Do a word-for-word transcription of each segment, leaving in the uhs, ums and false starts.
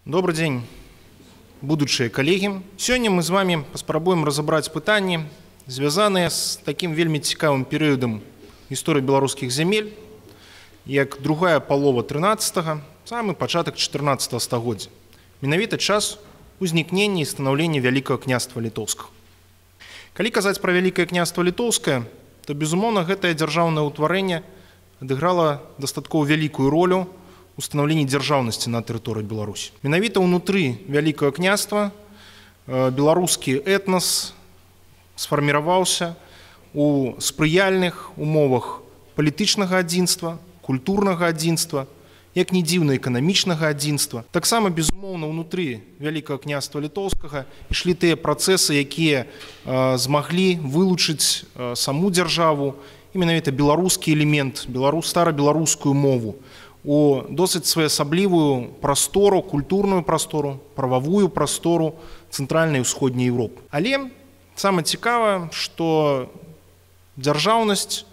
Добрый день, будучыя коллеги. Сегодня мы с вами паспрабуем разобрать пытанні, звязаныя с таким вельмі цікавым перыядам истории белорусских земель, як другая полова тринадцатого, самый пачатак четырнадцатого стагоддзя. Менавіта час узнікнення і станаўлення Вялікага княства Літоўскага. Калі казаць пра Вялікае княства Літоўскае, то, безумоўна, гэтае дзяржаўнае ўтварэнне адыграла дастаткова вялікую ролю у станаўленні дзяржаўнасці на тэрыторыі Беларусі. Менавіта ўнутры Вялікага княства беларускі этнас сфарміраваўся у спрыяльных умовах палітычнага адзінства, культурнага адзінства, як не дзіўна эканамічнага адзінства. Таксама, безумоўна, ўнутры Вялікага княства Літоўскага ішлі тыя працэсы, якія э, змаглі вылучыць э, саму дзяржаву, і менавіта беларускі элемент, беларус, стара-беларускую мову, у досыць своеасаблівую прастору, культурную прастору, прававую прастору цэнтральнай і ўсходняй Еўропы. Але самае цікавае, што дзяржаўнасць,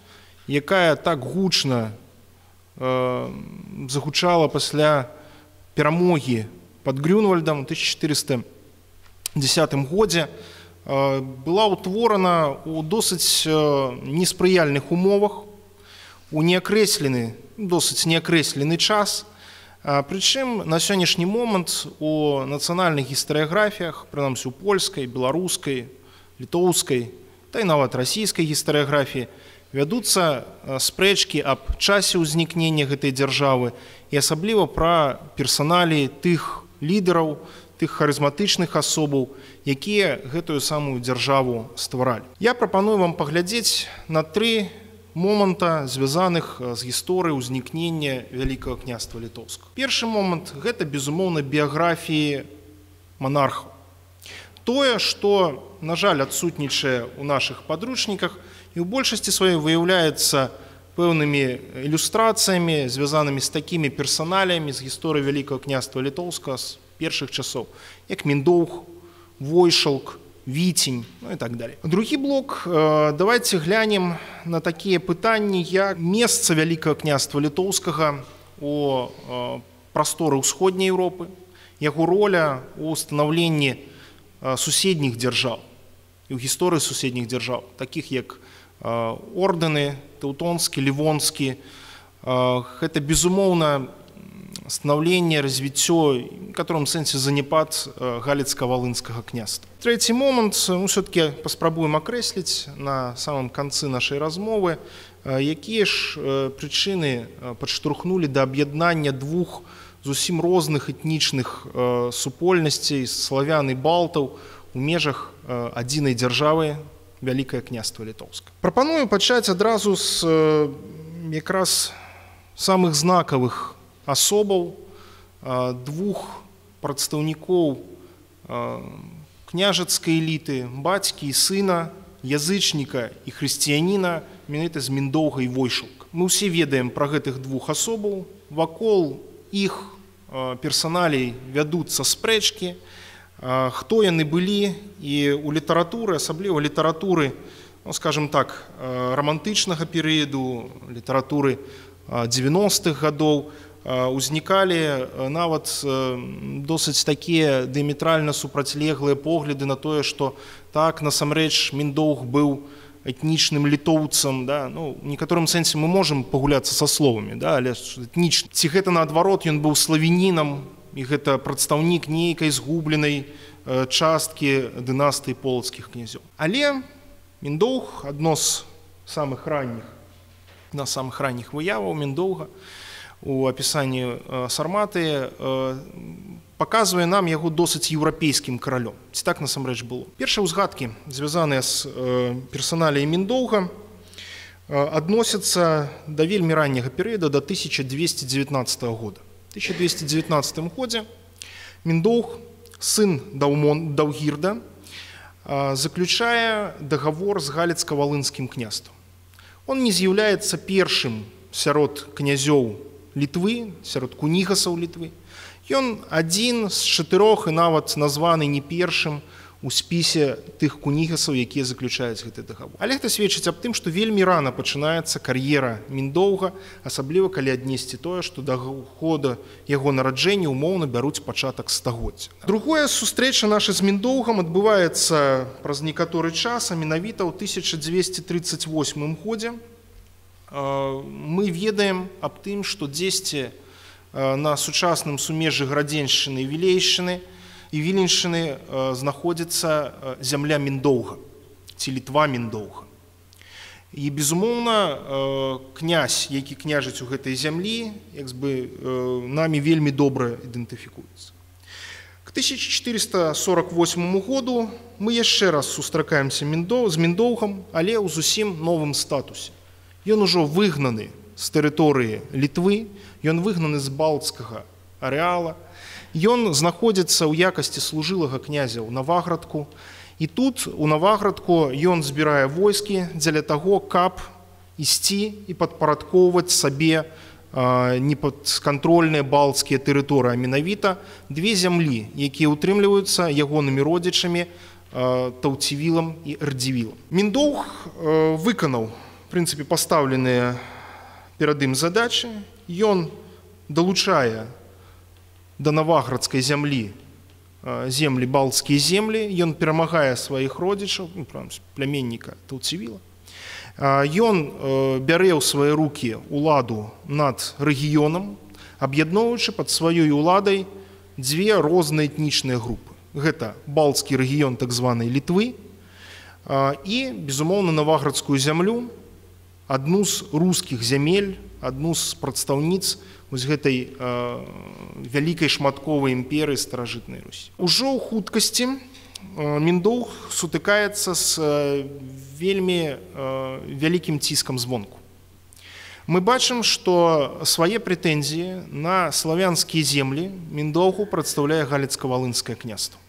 якая так гучна загучала пасля перамогі пад Грюнвальдам у тысяча четыреста десятым годзе, была ўтворана у досыць неспрыяльных умовах, у неакрэслены, досыць неакрэслены час. Прычым на сённяшні момант у нацыянальных гістарыяграфіях, прынамсі у польскай, беларускай, літоўскай, та і нават расійскай гістарыяграфіі, вядуцца спрэчкі аб часе ўзнікнення гэтай дзяржавы і асабліва пра персаналіі тых лідараў, тых харызматычных асобаў, якія гэтую самую дзяржаву стваралі. Я прапаную вам паглядзець на тры моманта, звязаных з гісторыяй ўзнікнення Вялікага княства Літоўскага. Першы момант – гэта, безумоўна, біяграфіі манархаў. Тое, што, на жаль, адсутнічае ў нашых падручніках і ў большасці сваёй выяўляецца пэўнымі ілюстрацыямі, звязанымі з такімі персаналіямі з гісторыі Вялікага княства Літоўскага з першых часоў, як Міндоўг, Войшалк, Віцень, ну і так далее. Другі блок, давайте глянем на такія пытанні, як месца Вялікага княства Літоўскага у прасторы ўсходняй Еўропы, яго роля у станаўленні суседніх дзяржаў і ў гісторыі суседніх дзяржаў, такіх як ордэны, тэўтонскі, лівонскі. Гэта, безумоўна, станаўленне, развіццё, в котором сэнсе заняпад галіцка-валынскага княства. Трэці момант, мы все-таки паспрабуем акрэсліць на самом канцы нашай размовы, якія ж прычыны падштурхнулі да аб'яднання двух зусім розных этнічных супольнасцей, славян і балтаў у межах адзінай дзяржавы Вялікае княства Літоўскае. Прапаную пачаць адразу з якраз самых знакавых асобаў, двух прадстаўнікоў княжацкай эліты, бацькі і сына, язычніка і хрысціяніна, менавіта з Міндоўга і Войшалка. Мы ўсе ведаем пра гэтых двух асобаў, вакол іх персаналей вядуцца спрэчкі, хто яны былі, і ў літаратуры, асабліва літаратуры, ну, скажем так, рамантычнага перыяду, літаратуры дзевяностых гадоў, узнікалі нават досыць такія дыяметральна супрацьлеглыя погляды на тое, што так, насамрэч, Міндоўг быў этнічным літоўцам, да? Ну, у некаторым сэнсе мы можам пагуляцца са словамі, да? Але этнічны. Ці гэта наадварот, ён быў славянінам, і гэта прадстаўнік нейкай згубленай часткі дынастыі полацкіх князёў. Але Міндоўг, адно з самых ранніх, на самых ранніх выяваў Міндоўга у апісанні Сарматы паказвае нам яго досыць еўрапейскім каралём. Ці так насамрэч было? Першыя ўзгадкі, звязаныя з персаналіяй Міндоўга, адносяцца да вельмі ранняга перыяда, да тысяча двести девятнадцатого года. В тысяча двести девятнадцатом году Міндоўг, сын Даўгірда, заключае договор с галіцка-валынскім княствам. Он не з'яўляецца першым сярод князёў Літвы, сярод кунігасаў Літвы. Ён адзін з чатырох і нават названы не першым у спісе тых кунігасаў, якія заключаюць гэты дагавор. Але гэта сведчыць аб тым, што вельмі рана пачынаецца кар'ера Міндоўга, асабліва калі аднесці тое, што да года яго нараджэння умоўна бяруць пачатак стагоддзя. Другое, сустрэча наша з Міндоўгам адбываецца праз некаторы час, а менавіта ў тысяча дзвесце трыццаць восьмым годзе. Мы ведаем аб тым, што дзесьці на сучасным сумежжы Градзеншчыны і Вілейшчыны і Віленшчыны знаходзіцца зямля Міндоўга, ці Літва Міндоўга. І, безумоўна, князь, які княжыць у гэтай зямлі, як бы намі вельмі добра ідэнтыфікуецца. К тысяча чатырыста сорок восьмаму году мы яшчэ раз сустракаемся з Міндоўгам, але ў зусім новым статусе. Ён ужо выгнаны з тэрыторыі Літвы, ён выгнаны з балцкага арэала, ён знаходзіцца ў якасці служылага князя ў Наваградку, і тут у Наваградку ён збірае войскі дзеля таго, каб ісці і падпарадкоўваць сабе непадкантрольныя балцкія тэрыторыі, а менавіта две зямлі, якія ўтрымліваюцца ягонымі родзічамі Таўцівілам і Ардзівілам. Міндоўг выканаў, в прынцыпе, пастаўленыя перад ім задачы, ён далучае да Наваградскай зямлі землі, балцкія землі, ён перамагае сваіх родзічаў, пляменніка Таўцівіла. Ён бярэ ў свае рукі ўладу над рэгіёнам, аб'ядноўваючы пад сваёй уладай дзве розныя этнічныя групы. Гэта балцкі рэгіён так званай Літвы і, безумоўна, Наваградскую зямлю, адну з рускіх зямель, адну з прадстаўніц вось гэтай вялікай шматковай імперыі старажытнай Русі. Ужо ў хуткасці Міндоўг сутыкаецца з вельмі вялікім ціскам звонку. Мы бачым, што свае прэтэнзіі на славянскія землі Міндоўгу прадстаўляе Галіцка-Валынскае княства.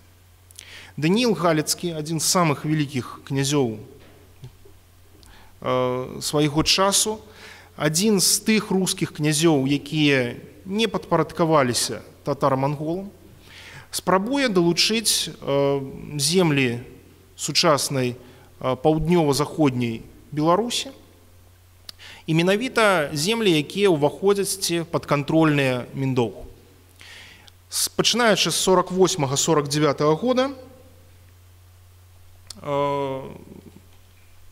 Данііл Галіцкі, адзін з самых вялікіх князёў свайго часу, адзін з тых рускіх князёў, якія не падпарадкаваліся татар-манголам, спрабуе далучыць землі сучаснай паўднёва-заходняй Беларусі і менавіта землі, якія ўваходзяць ці падкантрольныя Міндоўгу. Пачынаючы з сорок восьмага сорок дзевятага года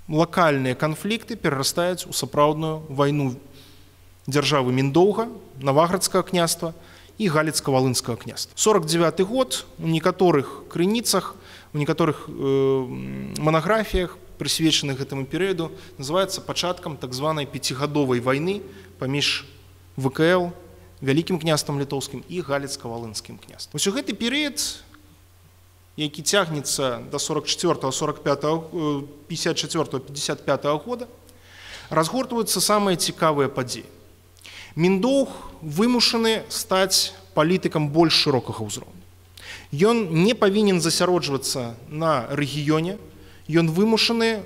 лакальныя канфлікты перарастаюць у сапраўдную вайну дзяржавы Міндоўга, Наваградскага княства і Галіцка-Валынскага княства. сорок дзевяты год у некаторых крыніцах, у некаторых манаграфіях, прысвечаных гэтаму перыяду, называецца пачаткам так званай пяцігадовай вайны паміж вэ ка эл, Вялікім княствам літоўскім і Галіцка-Валынскім княствам. Вось у гэты перыяд, які цягнецца да сорок чацвёртага сорок пятага пятьдесят четвёртага пятьдесят пятага года, разгортваюцца самыя цікавыя падзеі. Міндоўг вымушаны стаць палітыкам больш шырокага ўзроўню. Ён не павінен засяроджвацца на рэгіёне, ён вымушаны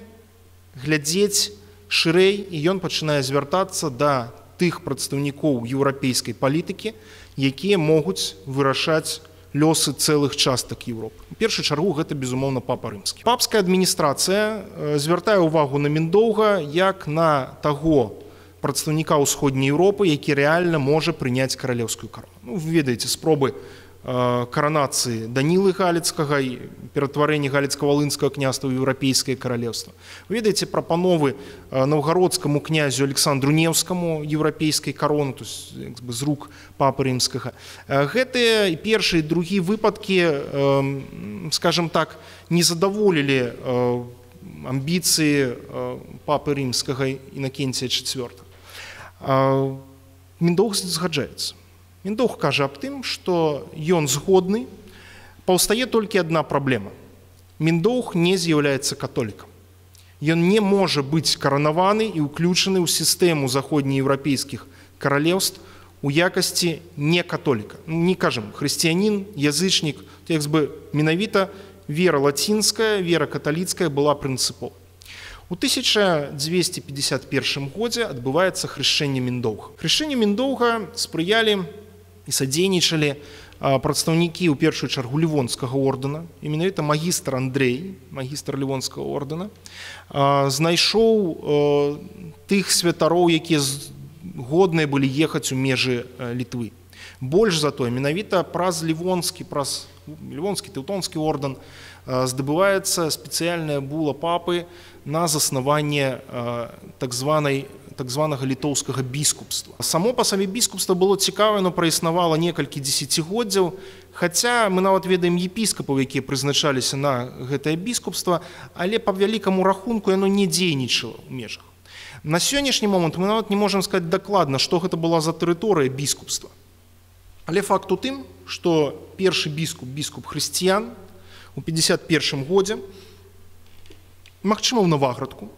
глядзець шырэй, і ён пачынае звяртацца да тых прадстаўнікоў еўрапейскай палітыкі, якія могуць вырашаць лёсы цэлых частак Еўропы. У першую чаргу гэта, безумоўна, папа рымскі. Папская адміністрацыя звяртае ўвагу на Міндоўга як на таго прадстаўніка ўсходняй Еўропы, які рэальна можа прыняць каралеўскую карону. Ну, вы ведаеце спробы каранацыі Данілы Галіцкага і ператварэння Галіцка-Валынскага княства ў еўрапейскае каралеўства. Вы ведаеце прапановы наўгародскаму князю Александру Неўскаму еўрапейскай кароны, то есть з рук папы рымскага. Гэтыя першы і другі выпадкі, скажем так, не задаволілі амбіцыі папы рымскага Інакенція чацвёртага. Міндоўг згаджаецца. Міндоўг кажа аб тым, што ён згодны, паўстае толькі адна праблема. Міндоўг не з'яўляецца католікам. Ён не можа быць каранаваны і ўключаны ў сістэму заходнееўрапейскіх каралеўств у якасці не католіка. Не кажам, хрысціянін, язычнік, як бы менавіта вера лацінская, вера каталіцкая была прынцыповай. У тысяча дзвесце пятьдесят першым годзе адбываецца хрышчэнне Міндоўга. Хрышчэнню Міндоўга спрыялі і садзейнічалі прадстаўнікі ў першую чаргу Лівонскага ордэна, і менавіта магістр Андрэй, магістр Лівонскага ордэна, знайшоў тых святароў, якія годныя былі ехаць у межы Літвы. Больш за тое, менавіта праз Лівонскі, праз Лівонскі тэўтонскі ордэн здабываецца спецыяльная була папы на заснаванне так званай так званага літоўскага біскупства. Само па сабе біскупства было цікавае, но праіснавала некалькі дзесяцігоддзяў, хаця мы нават ведаем епіскапаў, якія прызначаліся на гэтае біскупства, але па вялікаму рахунку яно не дзейнічала ў межах. На сённяшні момант мы нават не можам сказаць дакладна, што гэта была за тэрыторыя біскупства. Але факт у тым, што першы біскуп, біскуп хрысціян, у пятьдесят першым годзе, магчыма, ў Наваградку,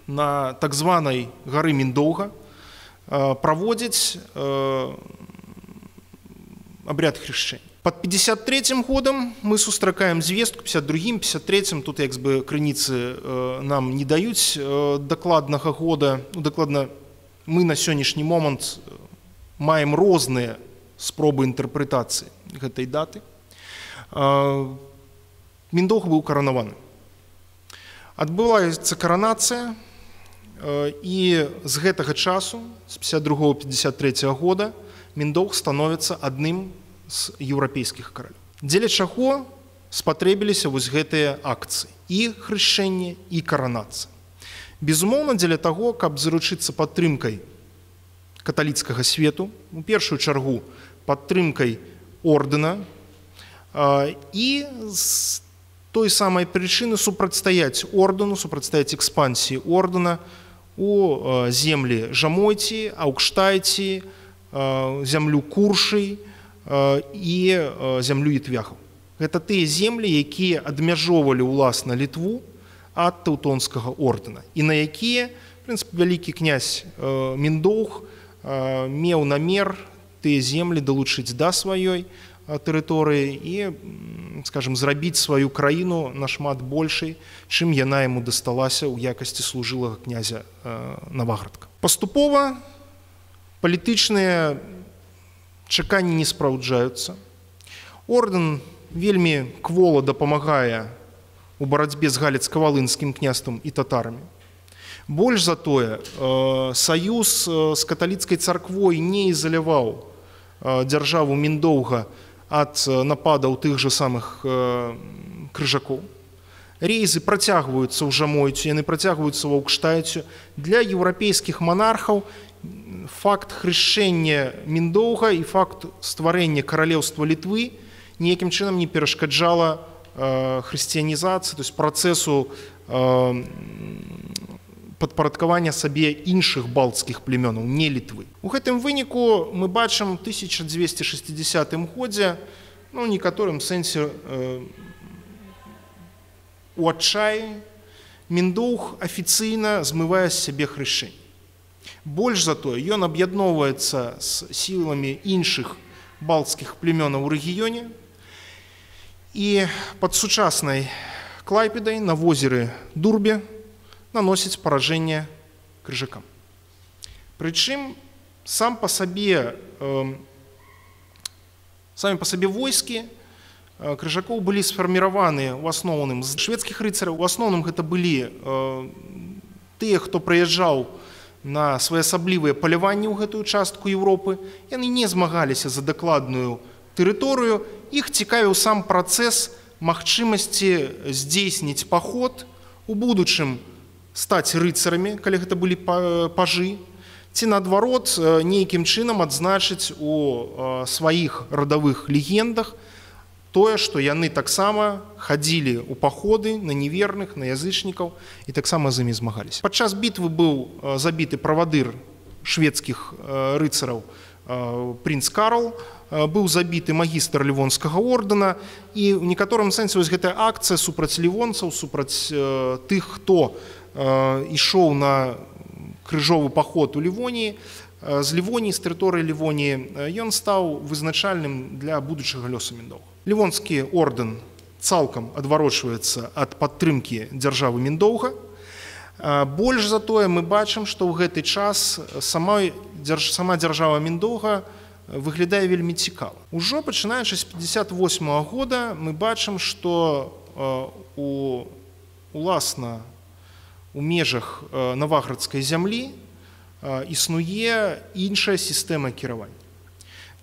на так званай гары Міндоўга праводзіць абряд хрышчэння. Пад пятьдесят третьим годам мы сустракаем звестку, пятьдесят другим, пятьдесят третьим, тут як бы крыніцы нам не даюць дакладнага года, ну, дакладна мы на сённяшні момант маем розныя спробы інтэрпрэтацыі гэтай даты. Міндоўга быў каранаваны. Адбываецца каранацыя, і з гэтага часу, з пятьдесят другого — пятьдесят третьего года, Міндоўг становіцца адным з еўрапейскіх каралёў. Дзеля чаго спатрэбіліся вось гэтыя акцыі, і хрышчэнне, і каранацыя. Безумоўна, дзеля таго, каб заручыцца падтрымкай каталіцкага свету, у першую чаргу падтрымкай ордэна, і з той самай прычыны супрацьстаяць ордэну, супрацьстаяць экспансіі ордэна у землі Жамойці, Аўкштайці, зямлю Куршый і зямлю Ітвяхаў. Гэта тыя землі, якія адмяжоўвалі ўласна Літву ад тэўтонскага ордэна, і на якія, в прынцыпе, вялікі князь Міндоўг меў намер тыя землі далучыць да сваёй тэрыторыі і, скажем, зрабіць сваю краіну нашмат большай, чым яна яму дасталася ў якасці служылага князя Наваградка. Паступова палітычныя чаканні не спраўджаюцца. Ордэн вельмі квола дапамагае у барацьбе з галіцка-валынскім княствам і татарамі. Больш за тое, саюз з каталіцкай царквой не ізаляваў дзяржаву Міндоўга ад нападаў тых жа самых крыжакоў. Рейзы працягваюцца ў Жамойцю, яны працягваюцца ў Аўкштайцю. Для еўрапейскіх манархаў факт хрышчэння Міндоўга і факт стварэння каралеўства Літвы ніякім чынам не перашкаджала хрысціянізацыі, то есть працэсу падпарадкавання сабе іншых балцкіх племёнаў, не Літвы. У гэтым выніку мы бачым у тысяча дзвесце шэсцідзесятым годзе, ну, у некаторым сэнсе э, у адчаі Міндоўг афіцыйна змывае з сябе хрышчэнне. Больш за тое, ён аб'ядноўваецца з сіламі іншых балцкіх племёнаў у рэгіёне і пад сучаснай Клайпедай на возеры Дурбе наносіць паражэнне крыжакам. Прычым сам па сабе, э, самі па сабе войскі крыжакоў былі сфарміраваны ў асноўным з шведскіх рыцараў. У асноўным гэта былі э, тыя, хто прыязджаў на своеасаблівыя паляванні ў гэтую частку Еўропы. Яны не змагаліся за дакладную тэрыторыю. Іх цікавіў сам працэс магчымасці здзейсніць паход, у будучым стаць рыцарамі, калі гэта былі пажы, ці наадварот нейкім чынам адзначыць у сваіх радавых легендах тое, што яны таксама хадзілі ў паходы на неверных, на язычнікаў і таксама з імі змагаліся. Падчас бітвы быў забіты правадыр шведскіх рыцараў прынц Карл, быў забіты магістр Лівонскага ордэна, і ў некаторым сэнсе вось гэтая акцыя супраць лівонцаў, супраць тых, хто ішоў на крыжовы паход у Лівоніі, з Лівоніі, з тэрыторыі Лівоніі, ён стаў вызначальным для будучага лёсу Міндоўга. Лівонскі ордэн цалкам адварочваецца ад падтрымкі дзяржавы Міндоўга. Больш за тое, мы бачым, што ў гэты час сама, сама дзяржава Міндоўга выглядае вельмі цікава. Ужо пачынаючы з пятьдесят восьмага года мы бачым, што у уласна у межах наваградскай зямлі існуе іншая сістэма кіравання.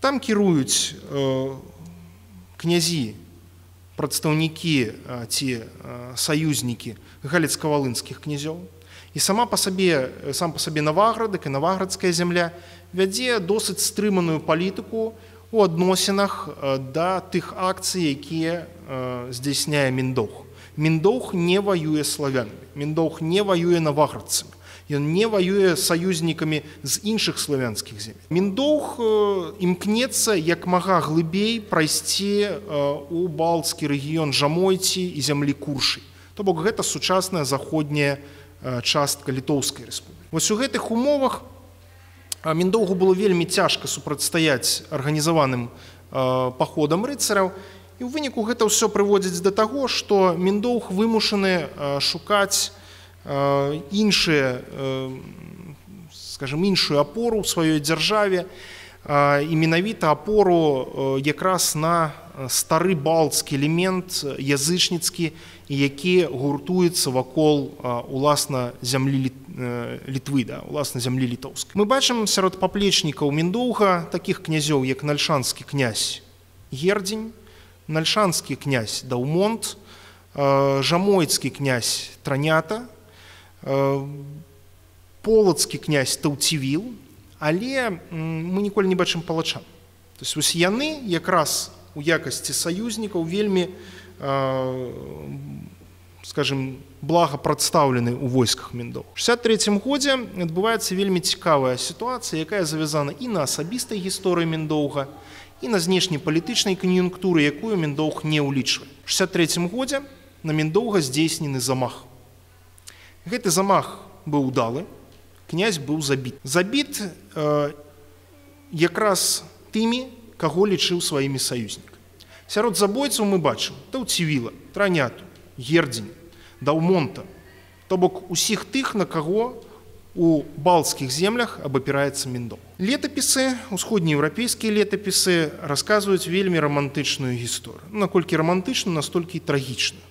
Там кіруюць князі, прадстаўнікі ці саюзнікі галіцка-валынскіх князёў. І сама па сабе, сам па сабе Наваградак і наваградская зямля вядзе досыць стрыманую палітыку у адносінах да тых акцый, якія здзяйсняе Міндоўг. Міндоўг не ваюе славянамі, Міндоўг не ваюе наваградцамі, ён не ваюе саюзнікамі з іншых славянскіх земель. Міндоўг імкнецца як мага глыбей прайсці у балцкі рэгіён Жамойці і зямлі Куршай. То бок гэта сучасная заходняя частка Літоўскай рэспублікі. Вось у гэтых умовах Міндоўгу было вельмі цяжка супрацьстаяць арганізаваным паходам рыцараў, і ў выніку гэта ўсё прыводзіць да таго, што Міндоўг вымушаны шукаць іншыя, скажем, іншую апору ў сваёй дзяржаве, і менавіта апору якраз на стары балцкі элемент язычніцкі, які гуртуецца вакол уласна зямлі Літвы, да, уласна зямлі літоўскай. Мы бачым сярод паплечнікаў Міндоўга такіх князёў, як нальшанскі князь Гердзень, нальшанскі князь Даўмонт, жамойцкі князь Транята, полацкі князь Таўцівіл, але мы ніколі не бачым палачан. То есть вось яны якраз у якасці саюзнікаў вельмі, скажем, блага прадстаўлены ў войсках Міндоўга. У шэсцьдзесят трэцім годзе адбываецца вельмі цікавая сітуацыя, якая завязана і на асабістай гісторыі Міндоўга, і на знешнепалітычнай кан'юнктуры, якую Міндоўг не ўлічвае. У шэсцьдесят трэцім годзе на Міндоўга здзейснены замах. Гэты замах быў удалы, князь быў забіт. Забіт э, якраз тымі, каго лічыў сваімі саюзнікамі. Сярод забойцаў мы бачым Таўцівіла, Траняту, Гердзень, Даўмонта, то бок усіх тых, на каго у балцкіх землях абапіраецца Міндоўг. Летапісы, усходнееўрапейскія летапісы расказваюць вельмі рамантычную гісторыю. Наколькі рамантычную, настолькі і трагічную.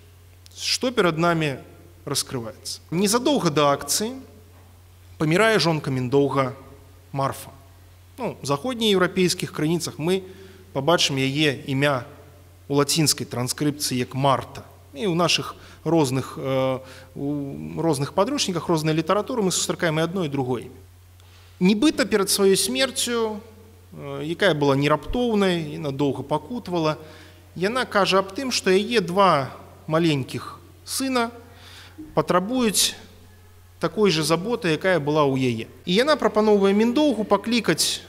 Што перад намі раскрываецца? Незадоўга да акцыі памірае жонка Міндоўга Марфа. Ну, у заходнееўрапейскіх крыніцах мы пабачым яе імя у лацінскай транскрыпцыі як Марта. І ў нашых розных, э, у розных падручніках, рознай літаратуры мы сустракаем і адно і другое імя. Нібыта перад сваёй смерцю, э, якая была не раптоўнай і надоўга пакутавала, яна кажа аб тым, што яе два маленькіх сына патрабуюць такой же заботы, якая была ў яе. І яна прапаноўвае Міндоўгу паклікаць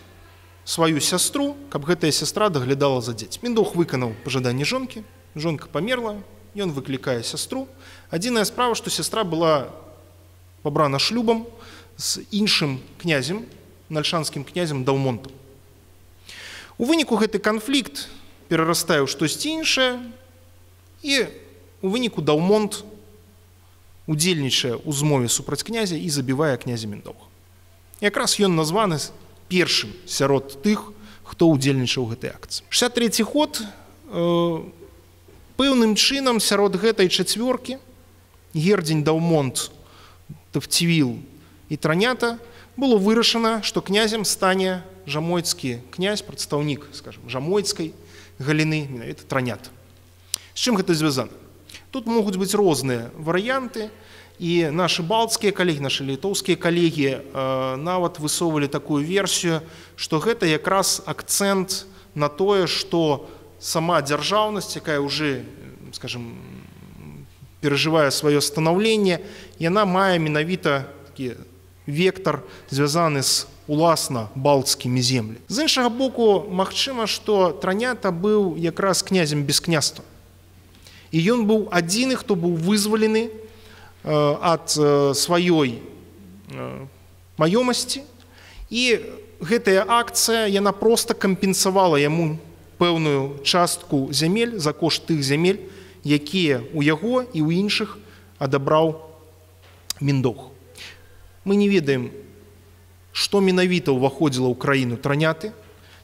сваю сястру, каб гэтая сястра даглядала за дзецьмі. Міндоўг выканаў пажаданне жонкі, жонка памерла, ён выклікае сястру. Адзіная справа, што сястра была пабрана шлюбам з іншым князем, нальшанскім князем Даўмонтам. У выніку гэты канфлікт перарастае ў штосьці іншае, і у выніку Даўмонт удзельнічае ў змове супраць князя і забівае князя Міндоўга. Якраз ён названы першым сярод тых, хто ўдзельнічаў у гэтай акцыі. шэсцьдесят трэці год э, пэўным чынам сярод гэтай чацвёркі Гердзень, Даўмонт, Таўцівіл і Транята было вырашана, што князем стане жамойцкі князь, прадстаўнік, скажем, жамойцкай галіны, менавіта Транята. З чым гэта звязана? Тут могуць быць розныя варыянты, і нашы балцкія калегі, нашы літоўскія калегі э, нават высоўвалі такую версію, што гэта якраз акцэнт на тое, што сама дзяржаўнасць, якая ўжо, скажем, перажывае сваё станаўленне, яна мае менавіта такі вектар, звязаны з уласна балцкімі землямі. З іншага боку, магчыма, што Транята быў якраз князем без княства. І ён быў адзіны, хто быў вызвалены ад сваёй маёмасці, і гэтая акцыя, яна проста кампенсавала яму пэўную частку зямель за кошт тых зямель, якія ў яго і ў іншых адабраў Міндоўг. Мы не ведаем, што менавіта ўваходзіла ў краіну Траняты,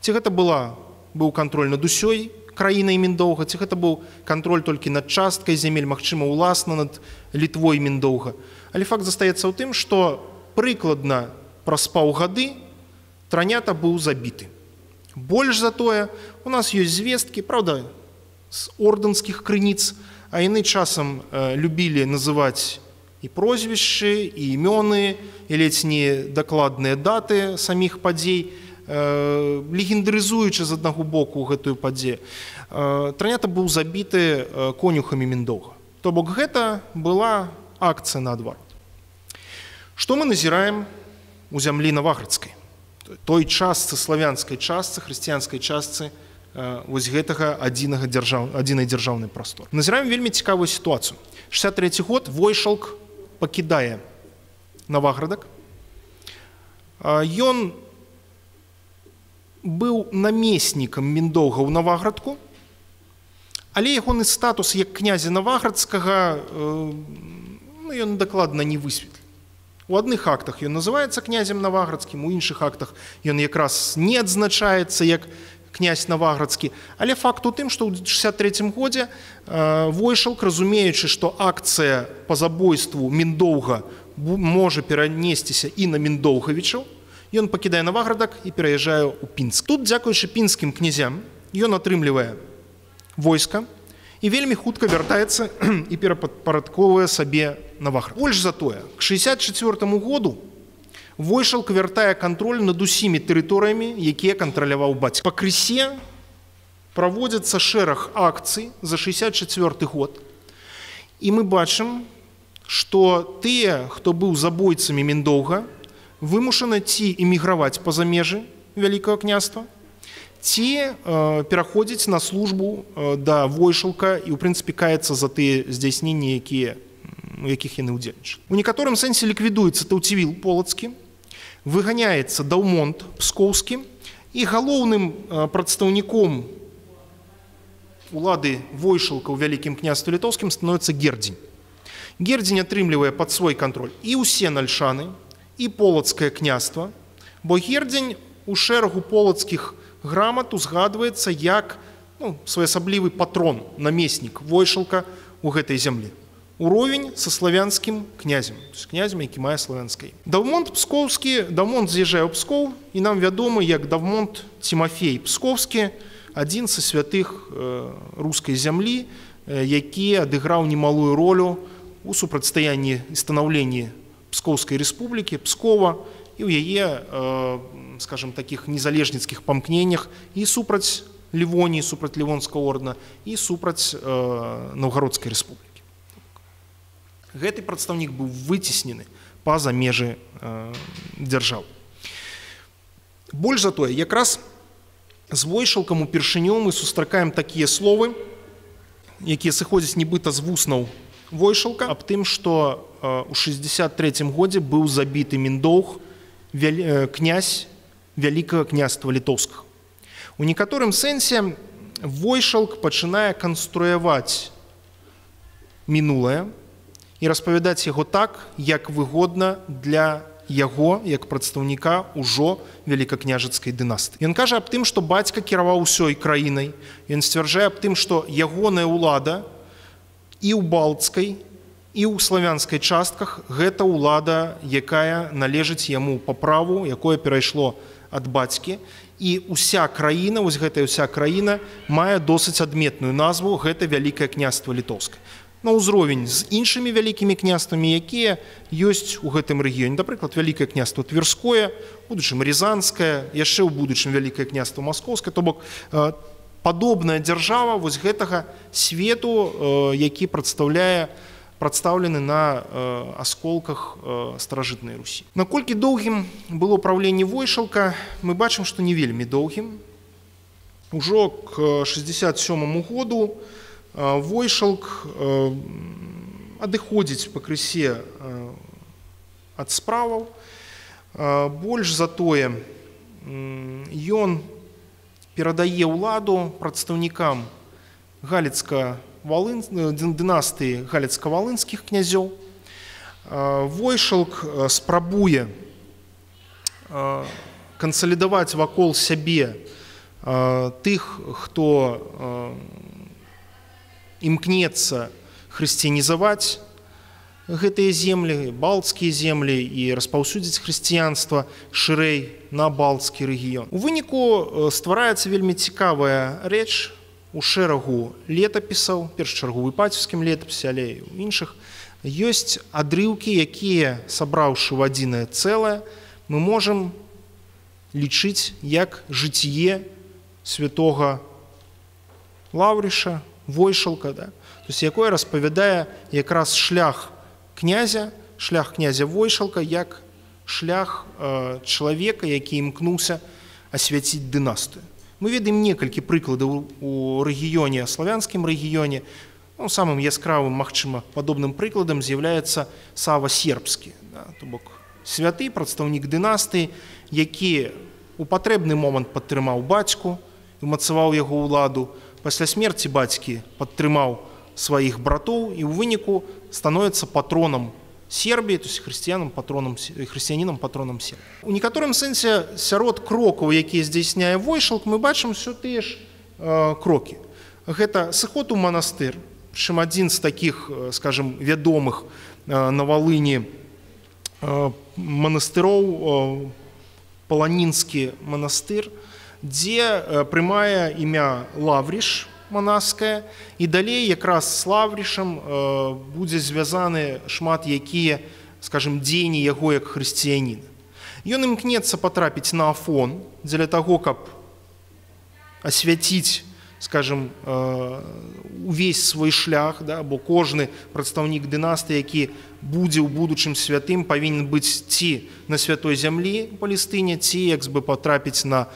Ці гэта была, быў кантроль над усёй краінай Міндоўга, ці гэта быў кантроль толькі над часткай зямель, магчыма, уласна над Літвой Міндоўга. Але факт застаецца ў тым, што прыкладна праз паўгады Транята быў забіты. Больш за тое, у нас ёсць звесткі, правда, з ордэнскіх крыніц, а яны часам э, любілі называць і прозвішчы, і імёны, і ледзь не дакладныя даты саміх падзей, э, легендарызуючы з аднаго боку гэтую падзею. Э, Транята быў забіты э, конюхамі Міндоўга. То бок гэта была акцыя наадварот. Што мы назіраем у зямлі Наваградскай? Той частцы, славянскай частцы, хрысціянскай частцы вось гэтага адзінага дзяржаў, адзінай дзяржаўнай прасторы. Назіраем вельмі цікавую сітуацыю. шэсцьдзясят трэці год Войшалк пакідае Наваградак. Ён быў намеснікам Міндоўга ў Наваградку, але ягоны статус як князя Наваградскага ну, ён дакладна не высветліў. У адных актах ён называецца князем Наваградскім, у іншых актах ён якраз не адзначаецца як князь Наваградскі. Але факт у тым, што ў шэсцьдзясят трэцім годзе Войшалк, разумеючы, што акцыя па забойству Міндоўга можа перанесціся і на Міндоўгавічаў, ён пакідае Наваградак і пераязджае ў Пінск. Тут, дзякуючы пінскім князям, ён атрымлівае войска і вельмі хутка вяртаецца і перапарадковвае сабе Наваград. Больш за тое, к шэсцьдзясят чацвёртаму году Войшалк вяртае кантроль над усімі тэрыторыямі, якія кантраляваў бацька. Па крысе праводзяцца шэраг акцый за шэсцьдзясят чацвёрты год. І мы бачым, што тыя, хто быў забойцамі Міндоўга, вымушаны ці эміграваць па-за межы Вялікага княства, ці э, пераходзіць на службу э, да Войшалка і, ў прынцыпе, каяцца за тыя здзяйсненні, якія, у якіх яны ўдзельнічалі. У некаторым сэнсе ліквідуецца Таўцівіл Полацкі, выганяецца Даўмонт Пскоўскі, і галоўным э, прадстаўніком улады Войшалка ў Вялікім княстве літоўскім становіцца Гердзень. Гердзень атрымлівае пад свой кантроль і ўсе Нальшаны, і Полацкае княства, бо Гердзень у шэрагу полацкіх грамат узгадваецца як ну, своеасаблівы патрон, намеснік Войшалка ў гэтай зямлі. Уровень са славянскім князем, то есть князем, які мае славянскае імя. Даўмонт Пскоўскі, Даўмонт з'язджае ў Пскоў, і нам вядомы як Даўмонт Цімафей Пскоўскі, адзін са святых э, рускай зямлі, э, які адыграў немалую ролю у супрацьстаянні і станаўленні Пскоўскай рэспублікі, Пскова, і ў яе, э, скажем, такіх незалежніцкіх памкненнях і супраць Лівоніі, супраць Лівонскага ордэна, і супраць э, Наўгародскай рэспублікі. Гэты прадстаўнік быў выцеснены па-за межы э, дзяржаў. Больш за тое, якраз з Войшалкам упершыню мы сустракаем такія словы, якія сыходзяць нібыта з вуснаў Войшалка, аб тым, што э, у шэсцьдзясят трэцім годзе быў забіты Міндоўг, вялі, э, князь Вялікага княства літоўскага. У некаторым сэнсе Войшалк пачынае канструяваць мінулае і распавядаць яго так, як выгодна для яго, як прадстаўніка ўжо вялікакняжацкай дынастыі. Ён кажа аб тым, што бацька кіраваў усёй краінай. Ён сцвярджае аб тым, што ягоная ўлада і ў балцкай, і ў славянскай частках гэта ўлада, якая належыць яму па праву, якое перайшло ад бацькі. І ўся краіна, вось гэтая ўся краіна мае досыць адметную назву, гэта Вялікае княства літоўскае. На ўзровень з іншымі вялікімі княствамі, якія ёсць у гэтым рэгіёне. Напрыклад, Вялікае княства Тверское, у будучым Рязанскае, яшчэ ў будучым Вялікае княства Маскоўскае. То бок падобная дзяржава вось гэтага свету, які прадстаўляе прадстаўлены на асколках старажытнай Русі. Наколькі доўгім было праўленне Войшалка, мы бачым, што не вельмі доўгім. Ужо к шэсцьдзясят сёмаму году Войшалк адыходзіць пакрысе ад справаў. Больш за тое, ён перадае ўладу прадстаўнікам галіцка дынастыі галіцка-валынскіх князёў. Войшалк спрабуе кансалідаваць вакол сябе тых, хто імкнецца хрысціянізаваць гэтыя землі, балтскія землі і распаўсюдзіць хрысціянства шырэй на балтскі рэгіён. У выніку ствараецца вельмі цікавая рэч у шэрагу летапісаў, першачарговы Іпацеўскім летапісе, але і ў іншых. Ёсць адрыўкі, якія, сабраўшы ў адзінае цэлае, мы можам лічыць як жыццє святога Лаўрыша, Войшалка, да? То есть, якое распавядае якраз шлях князя, шлях князя Войшалка, як шлях э, чалавека, які імкнуўся асвяціць дынастыю. Мы ведаем некалькі прыкладаў у рэгіёне, славянскім рэгіёне. Ну, самым яскравым, магчыма, падобным прыкладам з'яўляецца Сава Сербскі, да? То бок святы, прадстаўнік дынастыі, які у патрэбны момант падтрымаў бацьку, умацаваў яго ўладу, пасля смерці бацькі падтрымаў сваіх братоў і ў выніку становіцца патронам Сербіі, то есть хрысціянам патронам, хрысціянінам патронам Сербіі. У некаторым сэнсе сярод крокаў, якія здзяйсняе Войшалк, мы бачым все тыя ж э, крокі. Гэта сыход у манастыр, прычым адзін з такіх, скажем, вядомых э, на Валыні э, манастыроў, э, Паланінскі манастыр, дзе э, прымае імя Лавріш манаскае, і далей якраз з Лаврішам э, будзе звязаны шмат якія, скажем, дзеянні яго як хрысціяніна. Ён імкнецца патрапіць на Афон дзеля таго, каб асвяціць, скажем, э, увесь свой шлях, да, бо кожны прадстаўнік дынастыі, які будзе ў будучым святым, павінен быць ці на святой зямлі Палестыне, ці як бы патрапіць на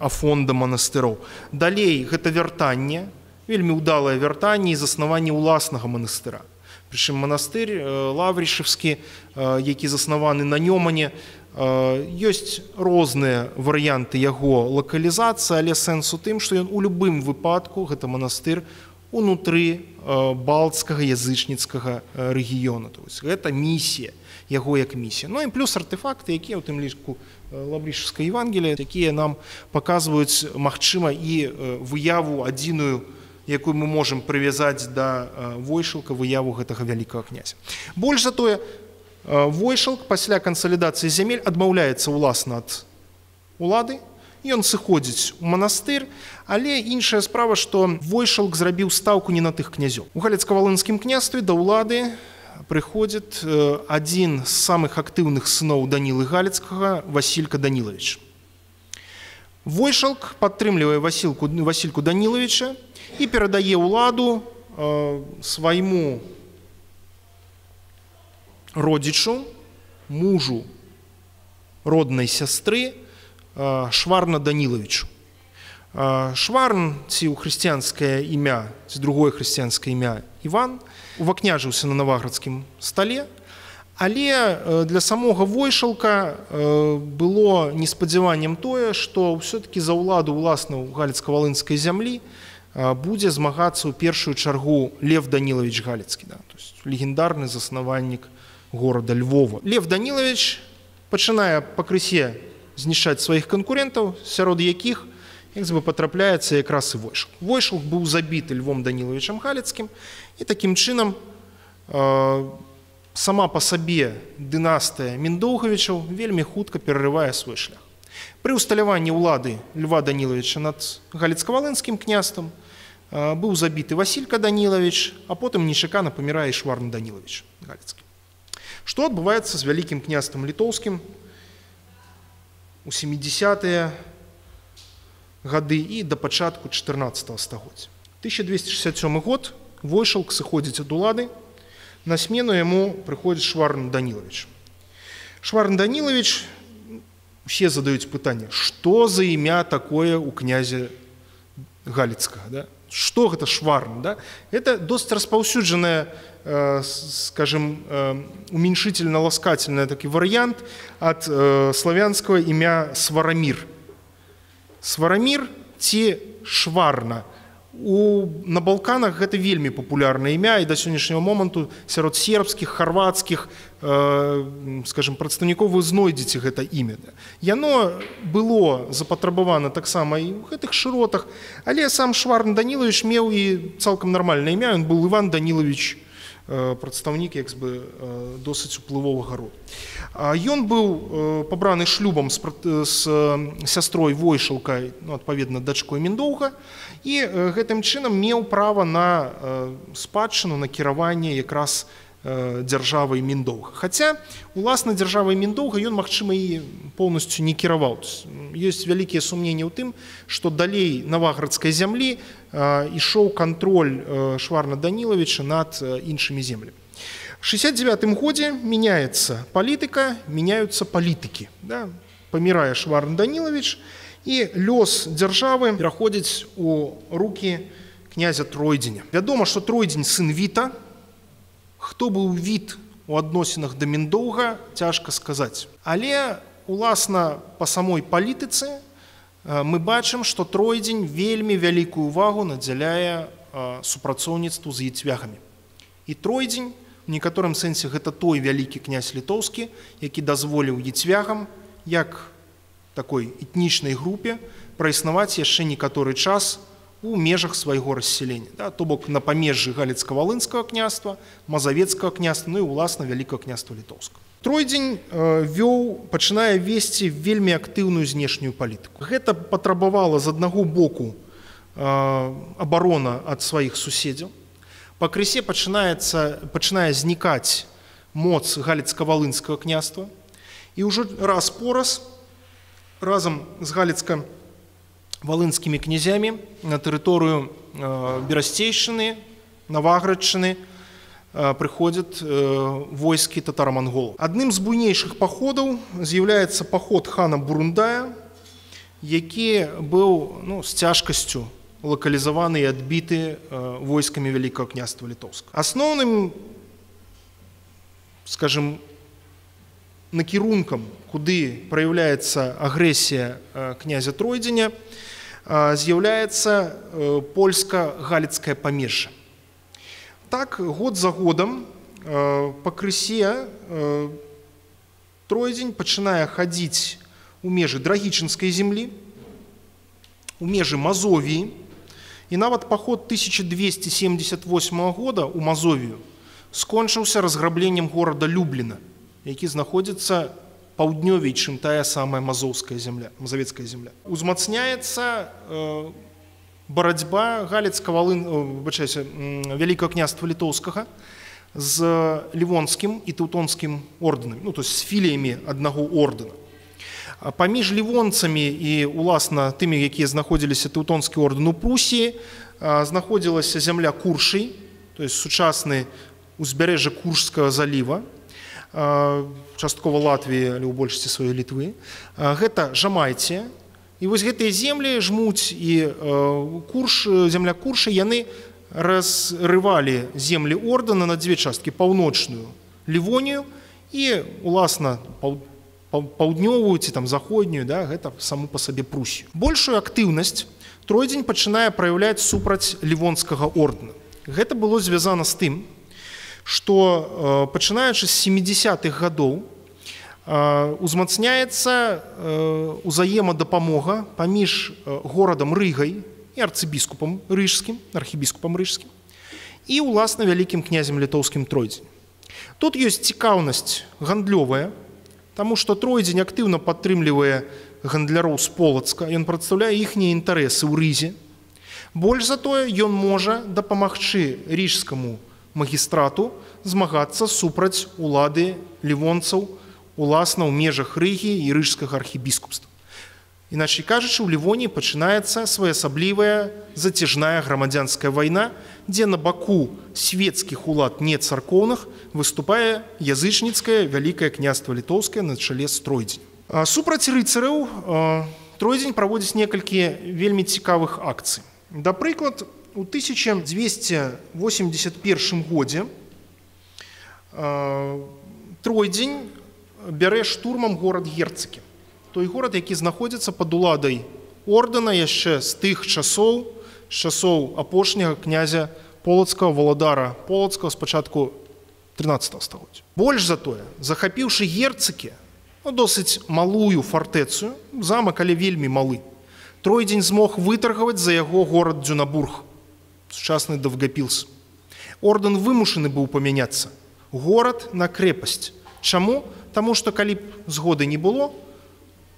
Афон да манастыроў. Далей гэта вяртанне, вельмі ўдалае вяртанне і заснаванне ўласнага манастыра. Прычым манастыр Лаврішевскі, які заснаваны на Нёмане, ёсць розныя варыянты яго лакалізацыі, але сэнс у тым, што ён у любым выпадку гэта манастыр унутры балтскага язычніцкага рэгіёну. То есть гэта місія, яго як місія. Ну і плюс артефакты, якія ў тым ліку Лаврішевскае Евангелие, якія нам паказваюць, магчыма, і выяву адзіную, якую мы можам прывязаць да Войшалка, выяву гэтага вялікага князя. Больш за тое, Войшалк пасля кансалідацыі зямель адмаўляецца ўласна ад улады, ён сыходзіць у манастыр, але іншая справа, што Войшалк зрабіў стаўку не на тых князёў. У Галіцка-Валынскім княстве да ўлады прыходзіць адзін з самых актыўных сыноў Данілы Галіцкага, Васілька Данілавіч. Войшалк падтрымлівае Васільку, Васільку Данілавіча і перадае ўладу э, свайму родзічу, мужу роднай сястры э, Шварна Данілавічу. Э, Шварн, ці ў хрысціянскае імя, ці другое хрысціянскае імя Іван, увакняжыўся на наваградскім стале, але для самога Войшалка было неспадзяваннем тое, што ўсё-такі за ўладу ўласна ў Галіцка-Валынскай зямлі будзе змагацца ў першую чаргу Лев Данілавіч Галіцкі, да, то есть легендарны заснавальнік горада Львова. Лев Данілавіч пачынае пакрысе знішчаць сваіх канкурентаў, сярод якіх як бы потрапляецца якраз і Войшалк. Войшалк быў забіты Львом Данілавічам Галіцкім, і такім чынам э, сама па сабе дынастыя Міндоўгавічаў вельмі хутка перарывае свой шлях. Пры усталяванні ўлады Льва Данілавіча над Галіцка-Валынскім княствам э, быў забіты Васілька Данілавіч, а потым нечакана памірае Шварн Данілавіч Галіцкі. Што адбываецца з вялікім княствам літоўскім у сямідзесятыя гады і да пачатку чатырнаццатага стагоддзя. тысяча двести шестьдесят сёмы год Войшалк сыходзіць ад улады, на смену яму прыходзіць Шварн Данілавіч. Шварн Данілавіч, усе задаюць пытанне, што за імя такое у князя Галіцкага, да? Што гэта Шварн, да? Это досыць распаўсюджаная, э, скажем, э, уменьшительно-ласкательный такі варыянт ад э, славянскага імя Сварамір. Сварамір ці Шварна. У, на Балканах гэта вельмі папулярнае імя, і да сённяшняга моманту сярод сербскіх, харвацкіх, э, скажем, прадстаўнікоў вы знойдзеце гэта імя. Яно было запатрабавана таксама і ў гэтых шыротах, але сам Шварн Данілавіч меў і цалкам нармальнае імя, ён быў Іван Данілавіч, э, прадстаўнік як бы э, досыць уплывовага роду. Ён быў э, пабраны шлюбам з, з сястрой Войшалкай, ну, адпаведна, дачкой Міндоўга, і э, гэтым чынам меў права на э, спадчыну, на кіраванне якраз э, дзяржавай Міндоўга. Хаця, уласна, дзяржавай Міндоўга ён, магчыма, і поўнасцю не кіраваў. Ёсць вялікія сумненні ў тым, што далей наваградскай зямлі э, ішоў кантроль э, Шварна Данілавіча над э, іншымі землямі. В шестьдесят девятом годзе меняется политика, меняются политики. Да? Памірае Шварн Данілавіч, і лёс дзяржавы пераходзіць у рукі князя Тройдзеня. Вядома, што Тройдзень сын Віта. Хто быў Віт у адносінах да Міндоўга, цяжка сказаць. Але, уласна, па самой палітыцы мы бачым, што Тройдзень вельмі вялікую увагу надзяляе супрацоўніцтву з яцвягамі. І Тройдзень, у некаторым сэнсе, гэта той вялікі князь літоўскі, які дазволіў яцвягам, як такой этнічнай групе, праіснаваць яшчэ некаторы час у межах свайго расселення. Да? То бок на памежжы Галіцка-Валынскага княства, Мазавецкага княства, ну і, уласна, Вялікага княства літоўскага. Тройдзень э, вёў, пачынае весці вельмі актыўную знешнюю палітыку. Гэта патрабавала з аднаго боку э, абарона ад сваіх суседзяў. Пакрысе пачынаецца, пачынае знікаць моц Галіцка-Валынскага княства, і ўжо раз-пораз разам з Галіцка-Валынскімі князямі на тэрыторыю э, Берасцейшчыны, Наваградчыны э, прыходзяць э, войскі татаро-манголаў. Адным з буйнейшых паходаў з'яўляецца паход хана Бурундая, які быў, ну, з цяжкасцю локалізаваны і адбіты э, войскамі Вялікага княства літоўскага. Асноўным, скажем, накірункам, куды праяўляецца агрэсія э, князя Тройдзеня, э, з'яўляецца э, польска-галіцкае памежжа. Так, год за годам э, пакрысе э, Тройдзень пачынае хадзіць у межы Драгічынскай землі, у межы Мазовіі, і нават паход тысяча двести семьдесят восьмого года у Мазовію скончыўся разграбленнем горада Любліна, які знаходзіцца паўднёвей, чым тая самая мазоўская земля, мазавецкая земля. Узмацняецца э, барацьба Галіцка-Валын, выбачайся, Вялікага княства літоўскага з Лівонскім і Тэўтонскім ордэнамі, ну, то есть з філіямі аднаго ордэна. Паміж лівонцамі і, уласна, тымі, якія знаходзіліся Тэўтонскі ордэн у Прусіі, знаходзілася зямля Куршый, то есть сучасны узбярэжжа Куршскага заліва, часткова Латвіі, але ў большасці сваёй Літвы. Гэта Жамайція. І вось гэтыя землі жмуць і Курш, зямля Курша, яны разрывалі землі ордэна на дзве часткі: паўночную Лівонію і, уласна, паўднёвую ці там заходнюю, да, гэта саму па сабе Прусію. Большую актыўнасць Тройдзень пачынае праяўляць супраць Лівонскага ордэна. Гэта было звязана з тым, што пачынаючы з сямідзясятых гадоў узмацняецца узаемадапамога паміж горадам Рыгай і арцыбіскупам рыжскім, архібіскупам рыжскім і, уласна, вялікім князем літоўскім Тройдзень. Тут ёсць цікаўнасць гандлёвая, таму што Тройдзень актыўна падтрымлівае гандляроў з Полацка, ён прадстаўляе іхнія інтарэсы ў Рызе. Больш за тое, ён можа дапамагчы рыжскаму магістрату змагацца супраць улады лівонцаў, уласна, ў межах Рыгі і рыжскага архібіскупства. Іначай кажучы, у Лівоніі пачынаецца своеасаблівая зацяжная грамадзянская вайна, дзе на баку свецкіх улад не царкоўных выступае язычніцкае Вялікае княства літоўскае на чале з Тройдзенем. Супраць рыцараў Тройдзень праводзіць некалькі вельмі цікавых акцый. Да прыклад, у тысяча дзвесце восемьдесят первым годзе Тройдзень бярэ штурмам горад Герцакі. Той горад, які знаходзіцца пад уладай ордэна яшчэ з тых часоў, з часоў апошняга князя полацкага, валадара полацкага з пачатку трынаццатага стагоддзя. Больш за тое, захапіўшы Герцыкі, ну, досыць малую фартэцу, замак, але вельмі малы, Тройдзень змог вытаргаваць за яго горад Дзюнабург, сучасны Давгапілс. Ордэн вымушаны быў памяняцца. Горад на крэпасць. Чаму? Таму што калі б згоды не было,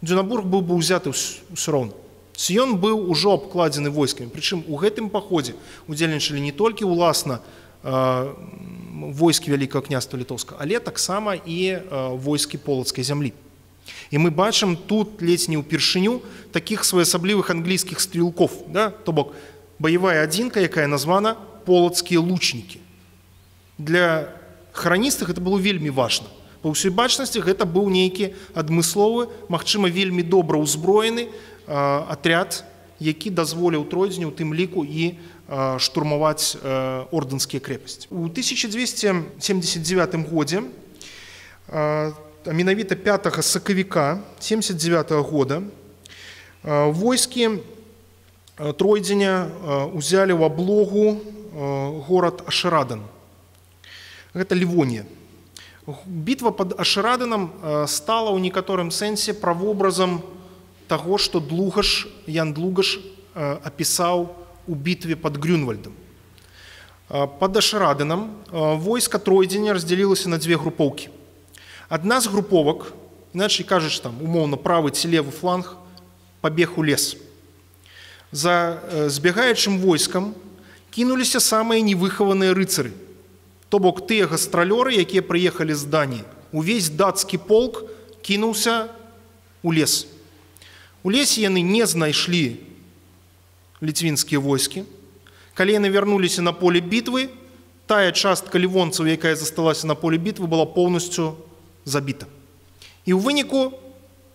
Дзюнабург быў бы ўзяты ўсё роўна. Ён быў ужо абкладзены войскамі. Прычым у гэтым паходзе удзельнічалі не толькі ўласна войскі Вялікага княства Літоўскага, але таксама і войскі полацкай зямлі. І мы бачым тут ледзь не ўпершыню такіх своеасаблівых англійскіх стрелков, да? То бок баявая адзінка, якая названа полацкія лучнікі. Для храністых гэта было вельмі важна. Па ўсёй бачнасці гэта быў нейкі адмысловы, магчыма, вельмі добра ўзброены атряд, які дазволіў Тройдзеню, у тым ліку і штурмаваць ордэнскія крэпасці. У тысяча дзвесце семьдесят девятым годзе, а менавіта пятага сакавіка семьдесят девятого года, войскі Тройдзеня узялі ў аблогу горад Ашырадан. Гэта Лівонія. Бітва пад Ашыраданам стала ў некаторым сэнсе правобразам таго, што Длугаш, Ян Длугаш апісаў у бітве пад Грюнвальдам. Пад Ашыраданам войска Тройдзеня раздзялілася на дзве групоўкі. Адна з груповак, іначай кажучы, там, умоўна, правы ці левы фланг, пабег у лес. За збягаючым войскам кінуліся самыя невыхаваныя рыцары, то бок тыя гастралёры, якія прыехалі з Даніі. Увесь дацкі полк кінуўся у лес. У лесе яны не знайшлі ліцвінскія войскі. Калі яны вярнуліся на поле бітвы, тая частка лівонцаў, якая засталася на поле бітвы, была поўнасцю забіта. І ў выніку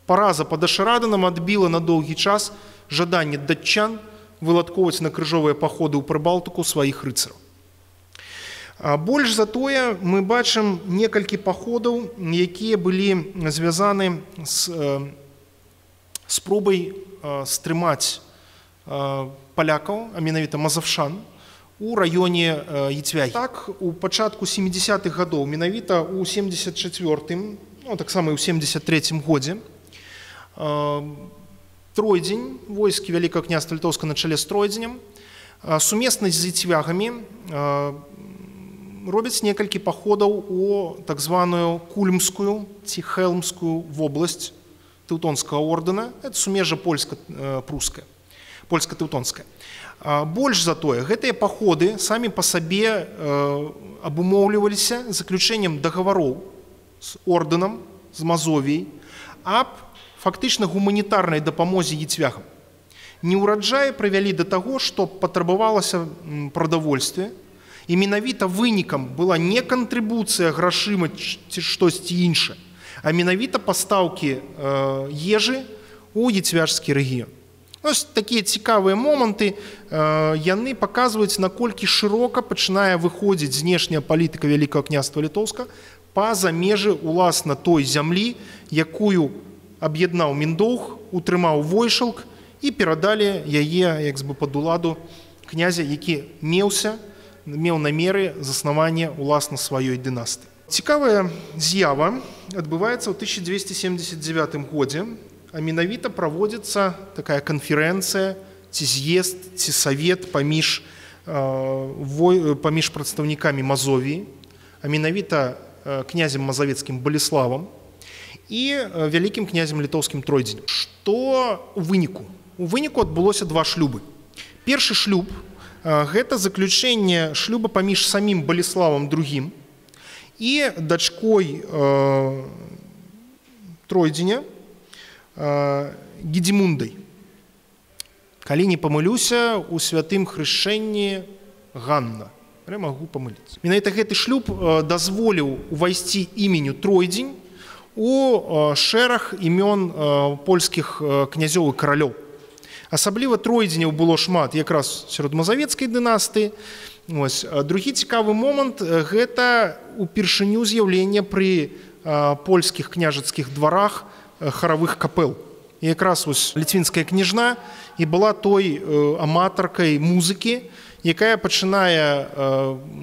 параза пад Ашыраданам адбіла на доўгі час жаданне датчан выладковаць на крыжовыя паходы ў Прыбалтыку сваіх рыцараў. Больш за тое мы бачым некалькі паходаў, якія былі звязаны з спробай стрымаць палякаў, а менавіта мазавшан, у раёне Яцвягі. Так, у пачатку сямідзесятых гадоў, менавіта ў семьдесят четвёртым, ну, таксама і ў семьдесят трэцім годзе, Тройдзень, войскі Вялікага княства Літоўскага на чале з Тройдзенем, сумесна з яцвягамі робяць некалькі паходаў у так званую Кульмскую ці Хелмскую вобласць Тэўтонскага ордэна. Это сумежжа польска-пруская, польска-тэўтонская. Больш за тое, гэтыя паходы самі па сабе абумоўліваліся заключэннем дагавароў з ордэнам, з Мазовіяй, аб фактычна гуманітарнай дапамозе яцвягам. Неўраджаі прывялі да таго, што патрабавалася прадавольстве, і менавіта вынікам была не кантрыбуцыя грашыма ці штосьці іншае, а менавіта пастаўкі ежы ў яцвяжскі рэгіён. Ось такія цікавыя моманты, яны паказваюць, наколькі шырока пачынае выходзіць знешняя палітыка Вялікага княства Літоўскага па-за межы уласна той зямлі, якую аб'яднаў Міндоўг, утрымаў Войшалк і перадалі яе як бы пад уладу князя, які меўся, меў намеры заснавання уласна сваёй дынастыі. Цікавая з'ява адбываецца ў тысяча дзвесце семьдесят девятым годзе, а менавіта праводзіцца такая канферэнцыя, ці з'езд, ці савет паміж, паміж прадстаўнікамі Мазовіі, а менавіта князем мазавецкім Баліславам і вялікім князем літоўскім Тройдзенем. Што ў выніку? У выніку адбылося два шлюбы. Першы шлюб – гэта заключэнне шлюба паміж самім Баліславам другім і дачкой Тройдзеня Гедзімундай. Калі не памылюся, у святым хрышчэнні Ганна. Я магу памыліцца. Менавіта гэты шлюб дазволіў увайсці іменю Тройдзень у шэраг імён польскіх князёў і каралёў. Асабліва Тройдзеняў было шмат якраз сярод мазавецкай дынастыі. Ось. Другі цікавы момант – гэта упершыню з'яўлення пры польскіх княжацкіх дварах харавых капэл. І якраз вось ліцвінская княжна і была той аматаркай музыкі, якая пачынае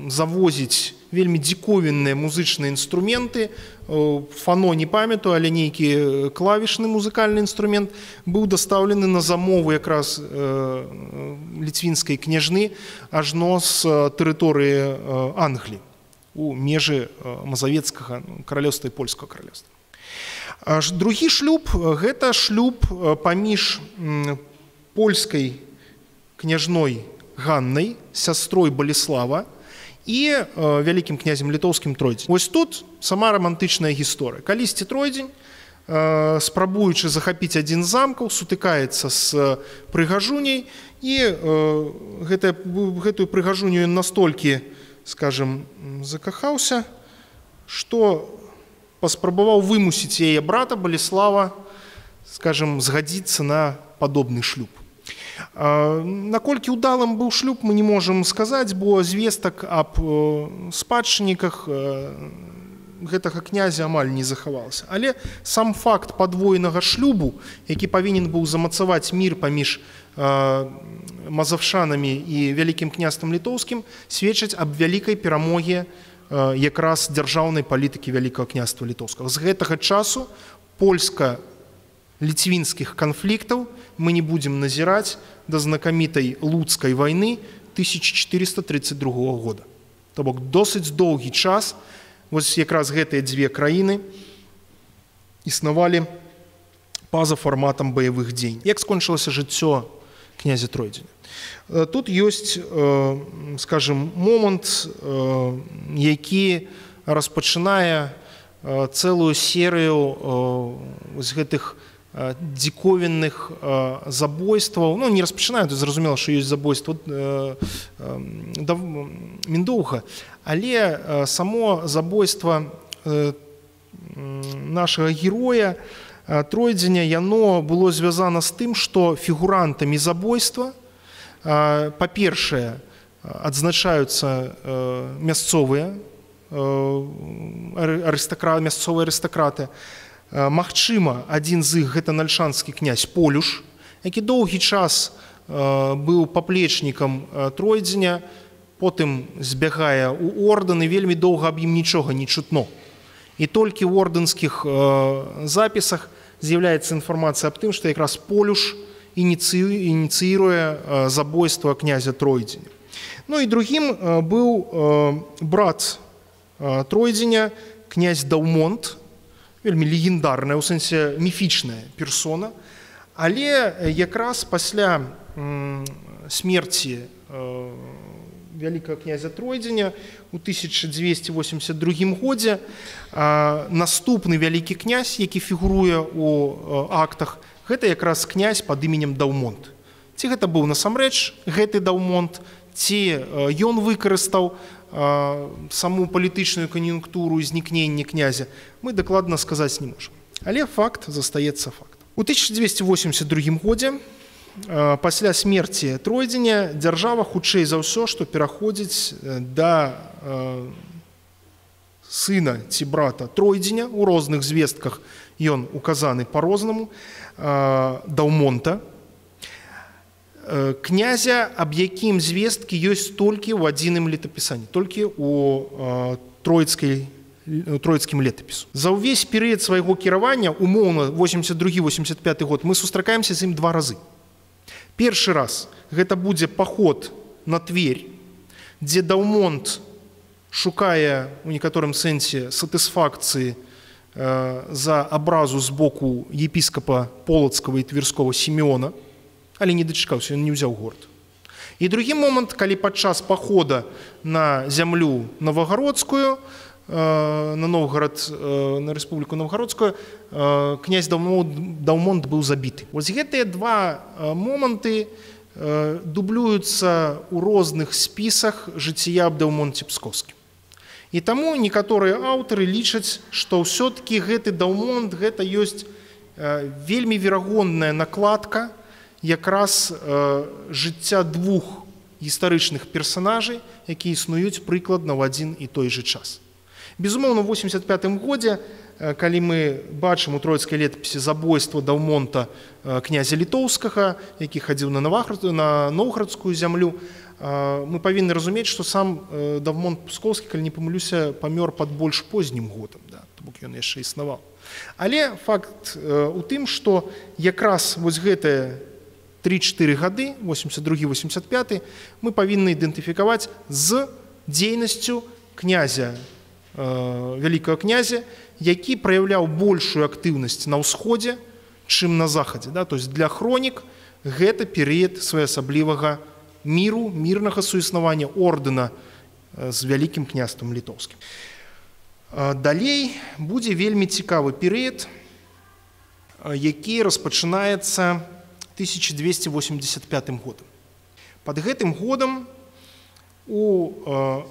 завозіць вельмі дзіковінныя музычныя інструменты. Фано не памятаю, але нейкі клавішны музыкальны інструмент быў дастаўлены на замову якраз ліцвінскай княжны ажно з тэрыторыі Англіі у межы мазавецкага каралеўства і польскага каралеўства. Другі шлюб – гэта шлюб паміж польскай княжной Ганнай, сястрой Баліслава, і вялікім князем літоўскім Тройдзень. Вось тут сама рамантычная гісторыя. Калісьці Тройдзень, спрабуючы захапіць адзін з замкаў, сутыкаецца з прыгажуняй, і гэтую прыгажуню ён настолькі, скажем, закахаўся, што паспрабаваў вымусіць яе брата Баліслава, скажем, згадзіцца на падобны шлюб. Наколькі ўдалым быў шлюб, мы не можам сказаць, бо звестак аб спадчынніках гэтага князя амаль не захавалася. Але сам факт падвойнага шлюбу, які павінен быў замацаваць мір паміж мазавшанамі і вялікім княствам літоўскім, сведчыць аб вялікай перамозе якраз дзяржаўнай палітыкі вялікага княства літоўскага. З гэтага часу польска-ліцвінскіх канфліктаў мы не будзем назіраць да знакамітай луцкай вайны тысяча чатырыста тридцать другога года. То бок досыць доўгі час вось якраз гэтыя дзве краіны існавалі па-за фарматам баявых дзеянь. Як скончылася жыццё князя Тройдзеня? Тут ёсць, скажем, момант, які распачынае цэлую серыю з гэтых дзіковінных забойстваў. Ну, не распачынаю, зразумела, што ёсць забойства міндоўга, але само забойства нашага героя Тройдзеня, яно было звязана з тым, што фігурантамі забойства, па-першае, адзначаюцца мясцовыя мясцовыя арыстакраты. Магчыма, адзін з іх гэта нальшанскі князь Полюш, які доўгі час быў паплечнікам Тройдзеня, потым збягае ў ордэн, і вельмі доўга аб ім нічога не чутно. І толькі ў ордэнскіх запісах з'яўляецца інфармацыя аб тым, што якраз Полюш ініцыіруе забойства князя Тройдзеня. Ну і другім быў брат Тройдзеня, князь Даўмонт, вельмі легендарная, у сэнсе міфічная персона, але якраз пасля смерці вялікага князя Тройдзеня у тысяча дзвесце восемьдесят другім годзе наступны вялікі князь, які фігуруе ў актах, гэта якраз князь пад іменем Даўмонт. Ці гэта быў насамрэч гэты Даўмонт, ці ён выкарыстаў саму палітычную кан'юнктуру знікнення князя, мы дакладна сказаць не можам. Але факт застаецца фактам. У тысяча дзвесце восемьдесят другім годзе, пасля смерці Тройдзеня, дзяржава хутчэй за ўсё, што пераходзіць да сына ці брата Тройдзеня, у розных звестках ён указаны па-рознаму, Даўмонта, князя, аб якім звесткі ёсць толькі ў адзіным летапісанні, толькі ў троіцкім летапісу. За ўвесь перыяд свайго кіравання, умоўна восемьдесят другі восемьдесят пяты год, мы сустракаемся з ім два разы. Першы раз гэта будзе паход на Тверь, дзе Даўмонт шукае у некаторым сэнсе сатысфакцыі за абразу з боку епіскапа Полацкага і Тверскога Сімеона, але не дачакаўся, ён не ўзяў горад. І другі момант, калі падчас пахода на зямлю Новагародскую, на Новгород, на Рэспубліку Новгарадскую, князь Даўмонт быў забіты. Вось гэтыя два моманты дублююцца ў розных спісах жыцця аб Даўмонце Пскоўскім. І таму некаторыя аўтары лічаць, што ўсё-такі гэты Даўмонт гэта ёсць вельмі верагодная накладка якраз жыцця двух гістарычных персанажай, якія існуюць прыкладна ў адзін і той жа час. Безумоўна, у восемьдесят пятым годзе, калі мы бачым у троіцкай летапісе забойства Даўмонта князя літоўскага, які хадзіў на Новгарадскую зямлю, мы павінны разумець, што сам Даўмонт Пскоўскі, калі не памылюся, памёр пад больш познім годам, да, то бок ён яшчэ існаваў. Але факт у тым, што якраз вось гэтыя тры-чатыры гады, восемьдесят другі — восемьдесят пяты, мы павінны ідэнтыфікаваць з дзейнасцю князя, вялікага князя, які праяўляў большую актыўнасць на ўсходзе, чым на захадзе. Да? То есть для хронік гэта перыяд своеасаблівага міру, мірнага суіснавання ордэна з вялікім княствам літоўскім. Далей будзе вельмі цікавы перыяд, які распачынаецца тысяча двести восемьдесят пятым годам. Пад гэтым годам у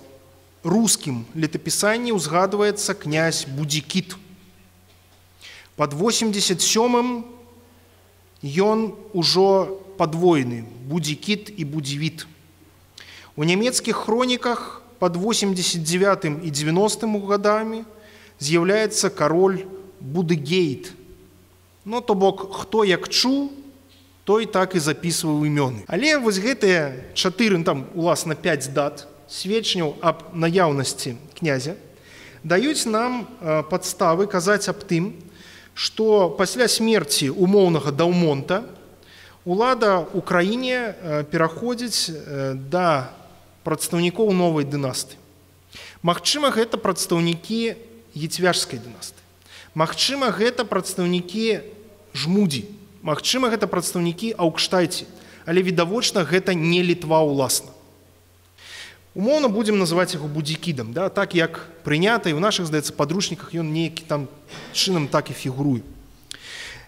рускім летапісанні ўзгадваецца князь Будзікіт. Пад восемьдесят сёмым ён ужо падвойны — Будзікіт і Будзівіт. У нямецкіх хроніках пад восемьдесят девятым і девяностым годамі з'яўляецца кароль Будыгейт. Ну, то бок, хто як чуў, той так і запісваў імёны. Але вось гэтыя чатыры, там, уласна, пяць дат сведчанняў аб наяўнасці князя даюць нам падставы казаць аб тым, што пасля смерці умоўнага Даўмонта улада ў краіне пераходзіць да прадстаўнікоў новай дынастыі. Магчыма, гэта прадстаўнікі Ецвяжскай дынастыі. Магчыма, гэта прадстаўнікі Жмудзі. Магчыма, гэта прадстаўнікі Аўкштайці. Але відавочна, гэта не Літва ўласна. Умоўна будзем называць яго Будзікідам, да? Так як прынята, і ў нашых, здаецца, падручніках ён нейкі там чынам так і фігуруе.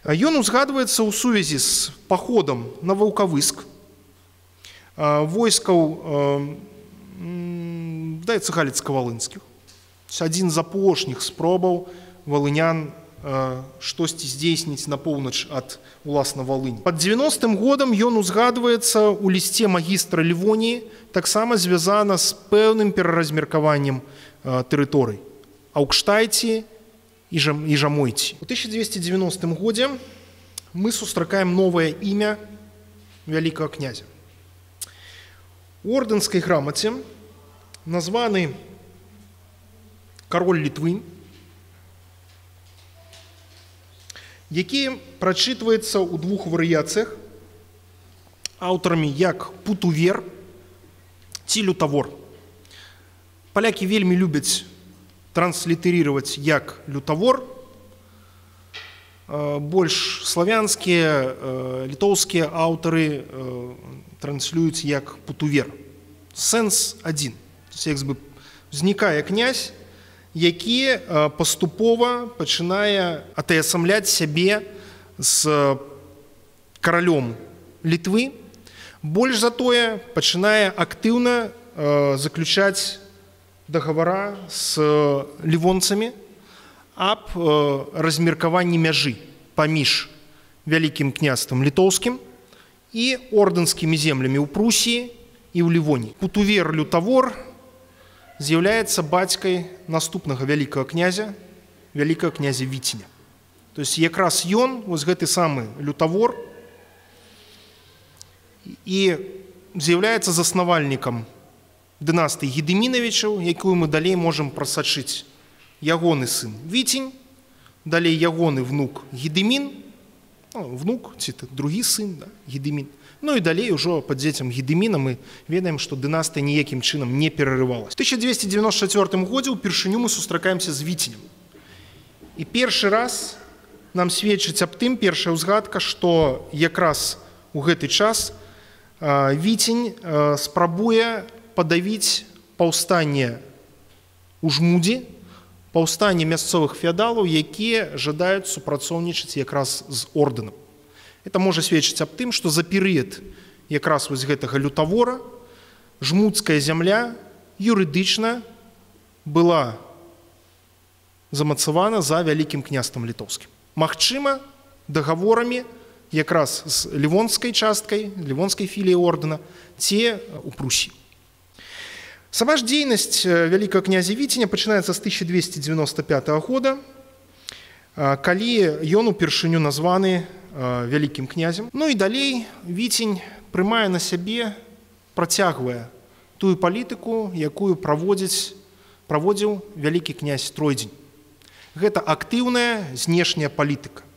Ён узгадваецца ў сувязі з паходам на Ваўкавыск, войскаў, здаецца, галіцка-валынскіх. Адзін з апошніх спробаў валынян штосьці здзейсніць на поўнач ад, уласна, Валыні. Пад девяностым годам ён узгадваецца ў лісце магістра Лівоніі, таксама звязана з пэўным пераразмеркаваннем тэрыторый Аўкштайці і Жамойці. У тысяча двести девяностым годзе мы сустракаем новае імя вялікага князя. У ордэнскай грамаце названы кароль Літвы, які прачытваецца ў двух варыяцыях аўтарамі як Путувер ці Лютавор. Палякі вельмі любяць транслітарировать як Лютавор, больш славянскія, літоўскія аўтары транслююць як Путувер. Сэнс адзін. Як бы узнікае князь, які паступова пачынае атаясамляць сябе з каралём Літвы, больш за тое пачынае актыўна заключаць дагавара з лівонцамі аб размеркаванні мяжы паміж вялікім княствам літоўскім і ордэнскімі землямі ў Прусіі і ў Лівоніі. Путувер Лютавор з'яўляецца бацькай наступнага вялікага князя, вялікага князя Віціня. То есть якраз ён, вось гэты самы Лютавор, і з'яўляецца заснавальнікам дынастыі Гедымінавічаў, якую мы далей можам прасачыць. Ягоны сын Віцінь, далей ягоны внук Гедымін, ну, внук ці другі сын, да, Гедымін. Ну і далей ужо пад дзецям Гедыміна мы ведаем, што дынастыя ніякім чынам не перарывалась. У тысяча двести девяносто чацвёртым годзе ўпершыню мы сустракаемся з Віцінем. І першы раз нам сведчыць аб тым, першая ўзгадка, што якраз у гэты час Віцінь спрабуе падавіць паўстанне ў Жмудзі, паўстанне мясцовых феадалаў, якія жадаюць супрацоўнічаць якраз з ордэнам. Это можа сведчыць аб тым, што за перыяд якраз вось гэтага Лютавора жмудская зямля юрыдычна была замацавана за вялікім княствам літоўскім. Магчыма, дагаворамі якраз з лівонскай часткай, лівонскай філіяй ордэна, ці ў Прусіі. Сама ж дзейнасць вялікага князя Віценя пачынаецца з тысяча двести девяносто пятого года, калі ён упершыню названы вялікім князем. Ну і далей Віцень прымае на сябе, працягвае тую палітыку, якую праводзіць, праводзіў вялікі князь Тройдзень. Гэта актыўная знешняя палітыка.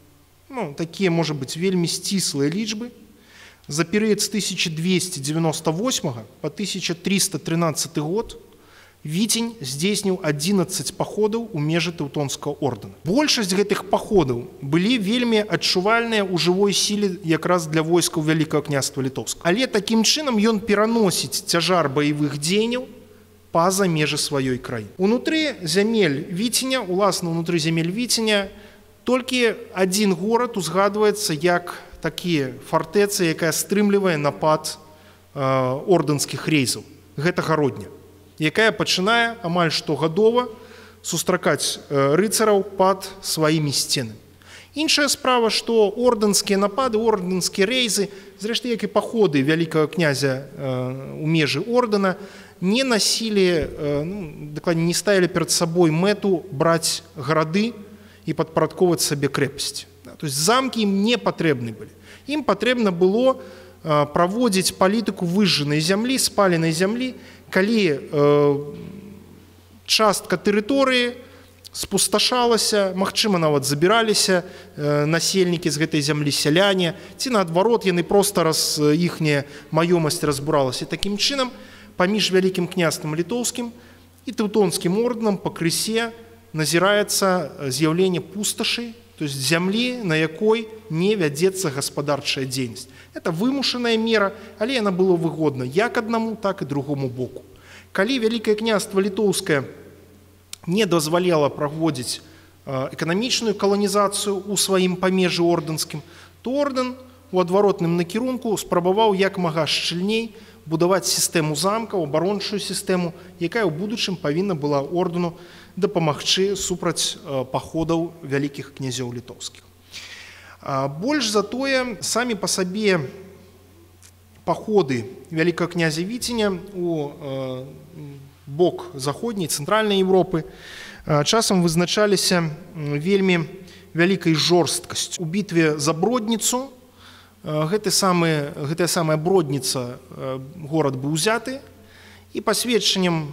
Ну, такія, можа быць, вельмі сціслыя лічбы. За перыяд з тысяча двести девяносто восьмого по тысяча триста тринадцатый год Віцень здзейсніў адзінаццаць паходаў у межы Тэўтонскага ордэна. Большасць гэтых паходаў былі вельмі адчувальныя ў жывой сіле якраз для войскаў Вялікага княства Літоўскага. Але такім чынам ён пераносіць цяжар баявых дзеянняў па-за межы сваёй краіны. Унутры зямель Віценя, уласна унутры зямель Віценя, толькі адзін горад узгадваецца як такі фартэца, якая стрымлівае напад э, ордэнскіх рэйзаў. Гэта Гародня, якая пачынае амаль штогадова сустракаць рыцараў пад сваімі сценамі. Іншая справа, што ордэнскія напады, ордэнскія рэйзы, зрэшты, як і паходы вялікага князя ў межы ордэна, не насілі, ну, дакладней, не ставілі перад сабой мэту браць гарады і падпарадковаць сабе крэпасці. То есть замкі ім не патрэбны былі. Ім патрэбна было праводзіць палітыку выжжанай зямлі, спаленай зямлі, калі э, частка тэрыторыі спусташалася, магчыма, нават забіраліся э, насельнікі з гэтай зямлі, сяляне, ці наадварот, яны проста раз іхняя маёмасць разбуралася. Такім чынам, паміж вялікім княствам літоўскім і тэўтонскім ордэнам пакрысе назіраецца з'яўленне пусташы, то есть зямлі, на якой не вядзецца гаспадарчая дзейнасць. Это вымушаная мера, але яна была выгодна як аднаму, так і другому боку. Калі Вялікае княства Літоўскае не дазваляла праводзіць эканамічную каланізацыю ў сваім памежжы ордэнскім, то ордэн у адваротным накірунку спрабаваў як мага шчыльней будаваць сістэму замкаў, абарончую сістэму, якая ў будучым павінна была ордэну дапамагчы супраць паходаў вялікіх князёў літоўскіх. Больш за тое, самі па сабе паходы вялікага князя Віценя у бок заходняй, цэнтральнай Еўропы часам вызначаліся вельмі вялікай жорсткасцю. У бітве за Бродніцу гэты самы, гэтая самая Бродніца горад быў узяты, і па сведчанням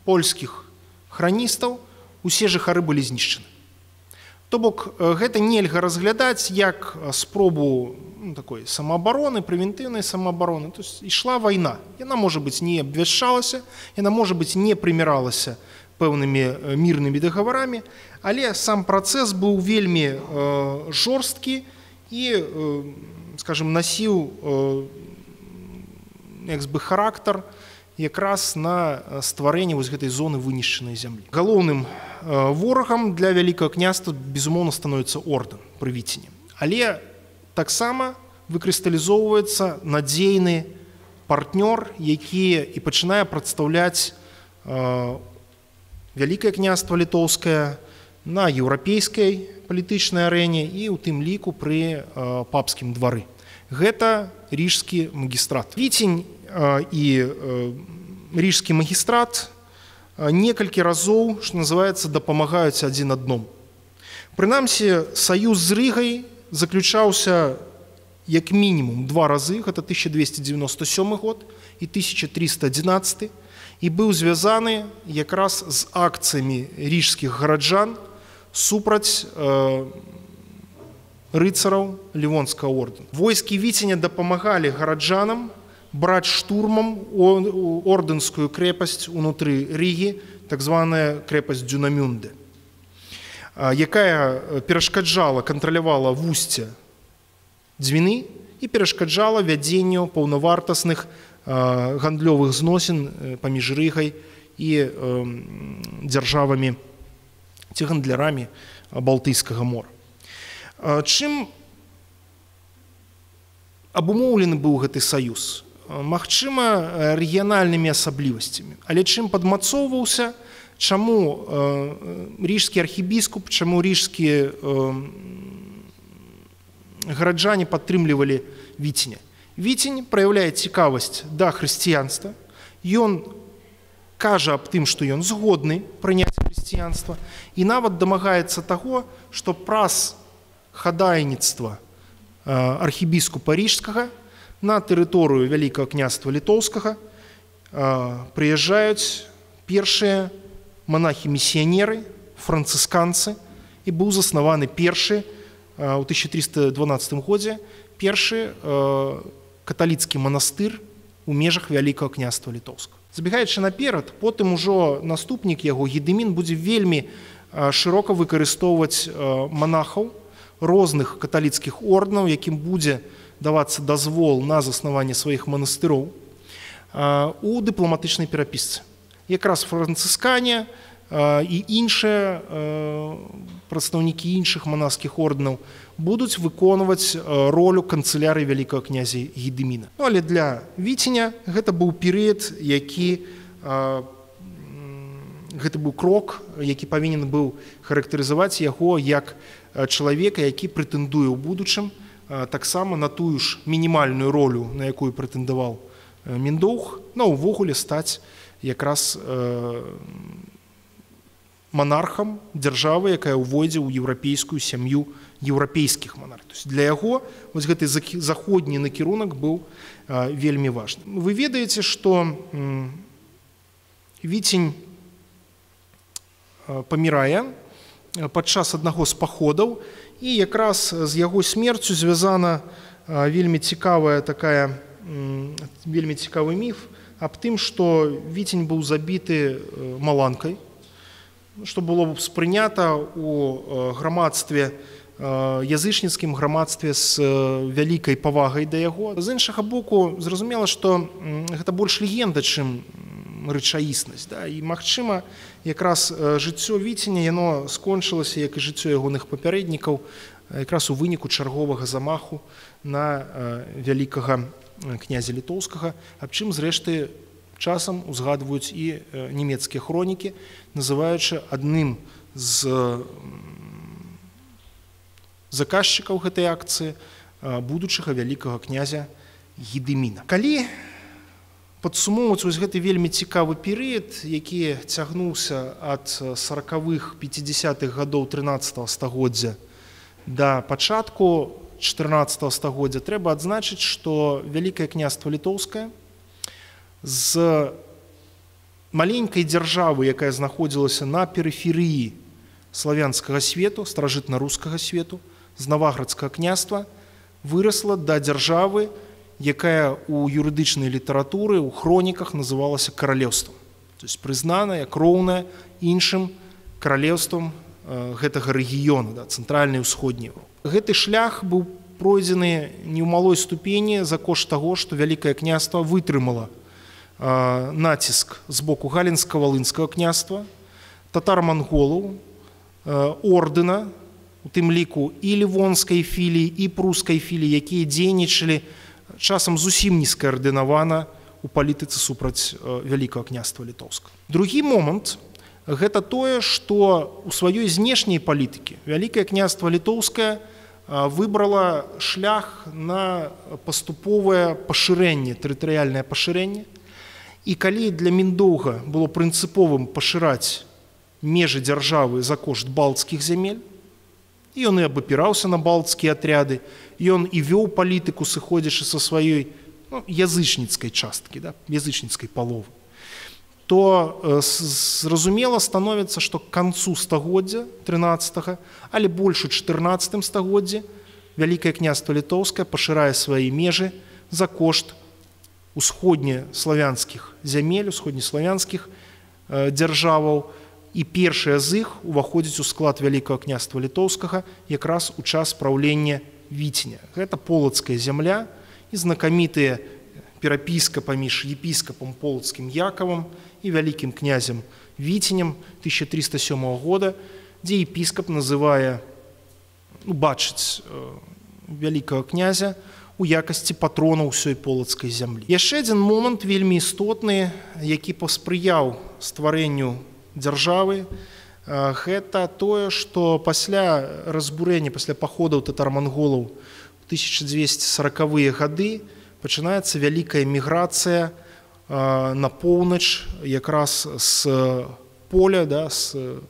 польскіх храністаў усе жыхары былі знішчаны. То бок гэта нельга разглядаць як спробу, ну, такой самаабароны, прэвентыўнай самаабароны. То есть ішла вайна. Яна, можа быць, не абвяшчалася, яна, можа быць, не прыміралася пэўнымі мірнымі дагаварамі, але сам працэс быў вельмі э, жорсткі і, э, скажем, насіў э, як бы характар якраз на стварэнне вось гэтай зоны вынішчанай зямлі. Галоўным ворагам для вялікага княства, безумоўна, становіцца ордэн пры Віцені. Але таксама выкрысталізоўваецца надзейны партнёр, які і пачынае прадстаўляць Вялікае княства Літоўскае на еўрапейскай палітычнай арэне і ў тым ліку пры папскім двары. Гэта рижскі магістрат. Віцень і рижскі магістрат некалькі разоў, што называецца, дапамагаюць адзін адному. Прынамсі, саюз з Рыгай заключаўся як мінімум два разы, гэта тысяча двести девяносто сёмы год і тысяча триста адзінаццаты, і быў звязаны якраз з акцыямі рижскіх гараджан супраць э, рыцараў Лівонскага ордэна. Войскі Віценя дапамагалі гараджанам браць штурмам ордэнскую крэпасць унутры Рігі, так званая крэпасць Дюнамюнде, якая перашкаджала, кантралявала вусце Двіны і перашкаджала вядзенню паўнавартасных гандлёвых зносін паміж Рігай і дзяржавамі ці гандлярамі Балтыйскага мора. Чым абумоўлены быў гэты саюз? Магчыма, рэгіянальнымі асаблівасцямі. Але чым падмацоўваўся, чаму рижскі архібіскуп, чаму рижскія гараджане падтрымлівалі Віценя? Віцень праяўляе цікавасць да хрысціянства, ён кажа аб тым, што ён згодны прыняць хрысціянства, і нават дамагаецца таго, што праз хадайніцтва архібіскупа рыжскага на тэрыторыю Вялікага княства літоўскага прыязджаюць першыя монахі-місіянеры, францысканцы, і быў заснаваны першы ў тысяча трыста дванаццатым годзе першы каталіцкі манастыр у межах Вялікага княства літоўскага. Забегаючы наперад, потым ужо наступнік яго Гедымін будзе вельмі шырока выкарыстоўваць монахаў розных каталіцкіх ордэнаў, якім будзе давацца дазвол на заснаванне сваіх манастыроў у дыпламатычнай перапісцы. Якраз францыскане і іншыя прадстаўнікі іншых манаскіх ордэнаў будуць выконваць ролю канцылярыі вялікага князя Гедыміна. Ну, але для Віценя гэта быў перыяд, які гэта быў крок, які павінен быў характарызаваць яго як чалавека, які прэтэндуе ў будучым таксама на тую ж мінімальную ролю, на якую прэтэндаваў Міндоўг, ну, увогуле стаць якраз монархам дзяржавы, якая ўвойдзе ў еўрапейскую сям'ю еўрапейскіх монархаў. Для яго вось гэты заходні накірунак быў вельмі важны. Вы ведаеце, што Віцень памірае падчас аднаго з паходаў, і якраз з яго смерцю звязана вельмі цікавая такая вельмі цікавы міф аб тым, што Віцень быў забіты маланкай, што было спрынята ў грамадстве, язычніцкім грамадстве з вялікай павагай да яго. З іншага боку, зразумела, што гэта больш легенда, чым рэчаіснасць. Да? І, магчыма, якраз жыццё Віценя, яно скончылася, як і жыццё ягоных папярэднікаў, якраз у выніку чарговага замаху на вялікага князя літоўскага, аб чым, зрэшты, часам узгадваюць і нямецкія хронікі, называючы адным з заказчыкаў гэтай акцыі будучага вялікага князя Гедыміна. Калі падсумоўваць вось гэты вельмі цікавы перыяд, які цягнуўся ад саракавых пяцідзясятых гадоў трынаццатага стагоддзя да пачатку чатырнаццатага стагоддзя, трэба адзначыць, што Вялікае княства літоўскае з маленькай дзяржавы, якая знаходзілася на перыферыі славянскага свету, старажытна-рускага свету, з Наваградскага княства, вырасла да дзяржавы, якая ў юрыдычнай літаратуры, ў хроніках называлася каралеўствам. То есть прызнаная, кроўная іншым каралеўствам гэтага рэгіёну, да, цэнтральнай і ўсходняй Еўропы. Гэты шлях быў пройдзены не ў малой ступені за кошт таго, што Вялікае княства вытрымала націск з боку галінска-валынскага княства, татар-манголаў, ордэна, у тым ліку і лівонскай філіі, і прускай філіі, якія дзейнічалі часам зусім нескаардынавана ў палітыцы супраць Вялікага княства літоўскага. Другі момант – гэта тое, што ў сваёй знешняй палітыкі Вялікае княства літоўскае выбрала шлях на паступовае пашырэнне, тэрытарыяльнае пашырэнне. І калі для Міндоўга было прынцыповым пашыраць межы дзяржавы за кошт балцкіх зямель, і ён і абапіраўся на балцкія атряды, ён і вёў палітыку, сыходзячы са сваёй ну, язычніцкай часткі, да, язычніцкай паловы, то э, зразумела становіцца, што к канцу стагоддзя трынаццатага, але больш у чатырнаццатым стагоддзі Вялікае княства літоўскае пашырае свае межы за кошт усходнеславянскіх зямель, усходнеславянскіх э, дзяржаваў, і першыя з іх уваходзяць у склад Вялікага княства літоўскага якраз у час праўлення Віценя. Гэта полацкая зямля і знакамітыя перапіска паміж епіскапам полацкім Якавам і вялікім князем Віценем тысяча трыста сёмага года, дзе епіскап называе, ну, бачыць э, вялікага князя у якасці патрона ўсёй полацкай зямлі. Яшчэ адзін момант вельмі істотны, які паспрыяў стварэнню дзяржавы, гэта тое, што пасля разбурэння, пасля паходаў татар-манголаў у тысяча дзвесце саракавыя гады пачынаецца вялікая міграцыя на поўнач якраз з поля, да, з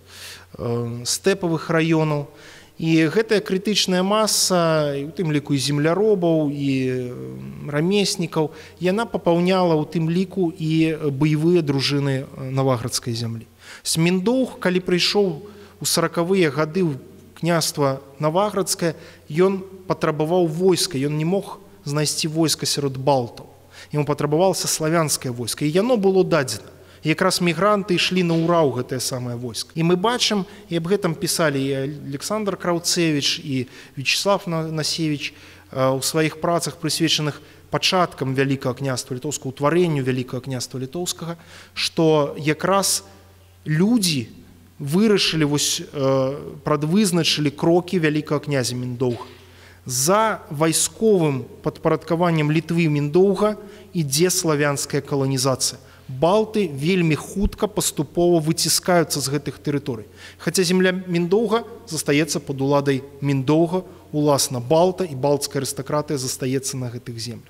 стэпавых раёнаў. І гэтая крытычная маса, і у тым ліку і земляробаў, і рамеснікаў, яна папаўняла ў тым ліку і баявыя дружыны наваградскай зямлі. Сміндоўг, калі прыйшоў у саракавыя гады ў княства Наваградскае, ён патрабаваў войска, ён не мог знайсці войска сярод балтаў. Яму патрабавалася славянскае войска, і яно было дадзена. Якраз мігранты ішлі на ўра ў гэтае самае войска. І мы бачым, і аб гэтым пісалі і Александр Краўцевіч, і Вячеслав Насевіч у сваіх працах, прысвечаных пачаткам Вялікага княства Літоўскага, утварэнню Вялікага княства Літоўскага, што якраз людзі вырашылі, вось, прадвызначылі крокі вялікага князя Міндоўга. За вайсковым падпарадкаваннем Літвы Міндоўга ідзе славянская каланізацыя. Балты вельмі хутка паступова выціскаюцца з гэтых тэрыторый. Хаця земля Міндоўга застаецца пад уладай Міндоўга, уласна балта, і балтская арыстакратыя застаецца на гэтых землях.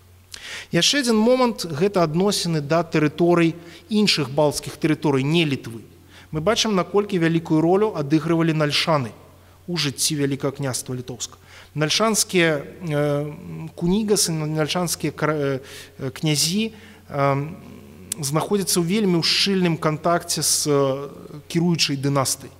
Яшчэ адзін момант – гэта адносіны да тэрыторый іншых балтскіх тэрыторый, не Літвы. Мы бачым, наколькі вялікую ролю адыгрывалі нальшаны у жыцці Вялікага княства Літоўскага. Нальшанскія кунігасы, нальшанскія князі знаходзяцца ў вельмі ў шчыльным кантакце з кіруючай дынастыяй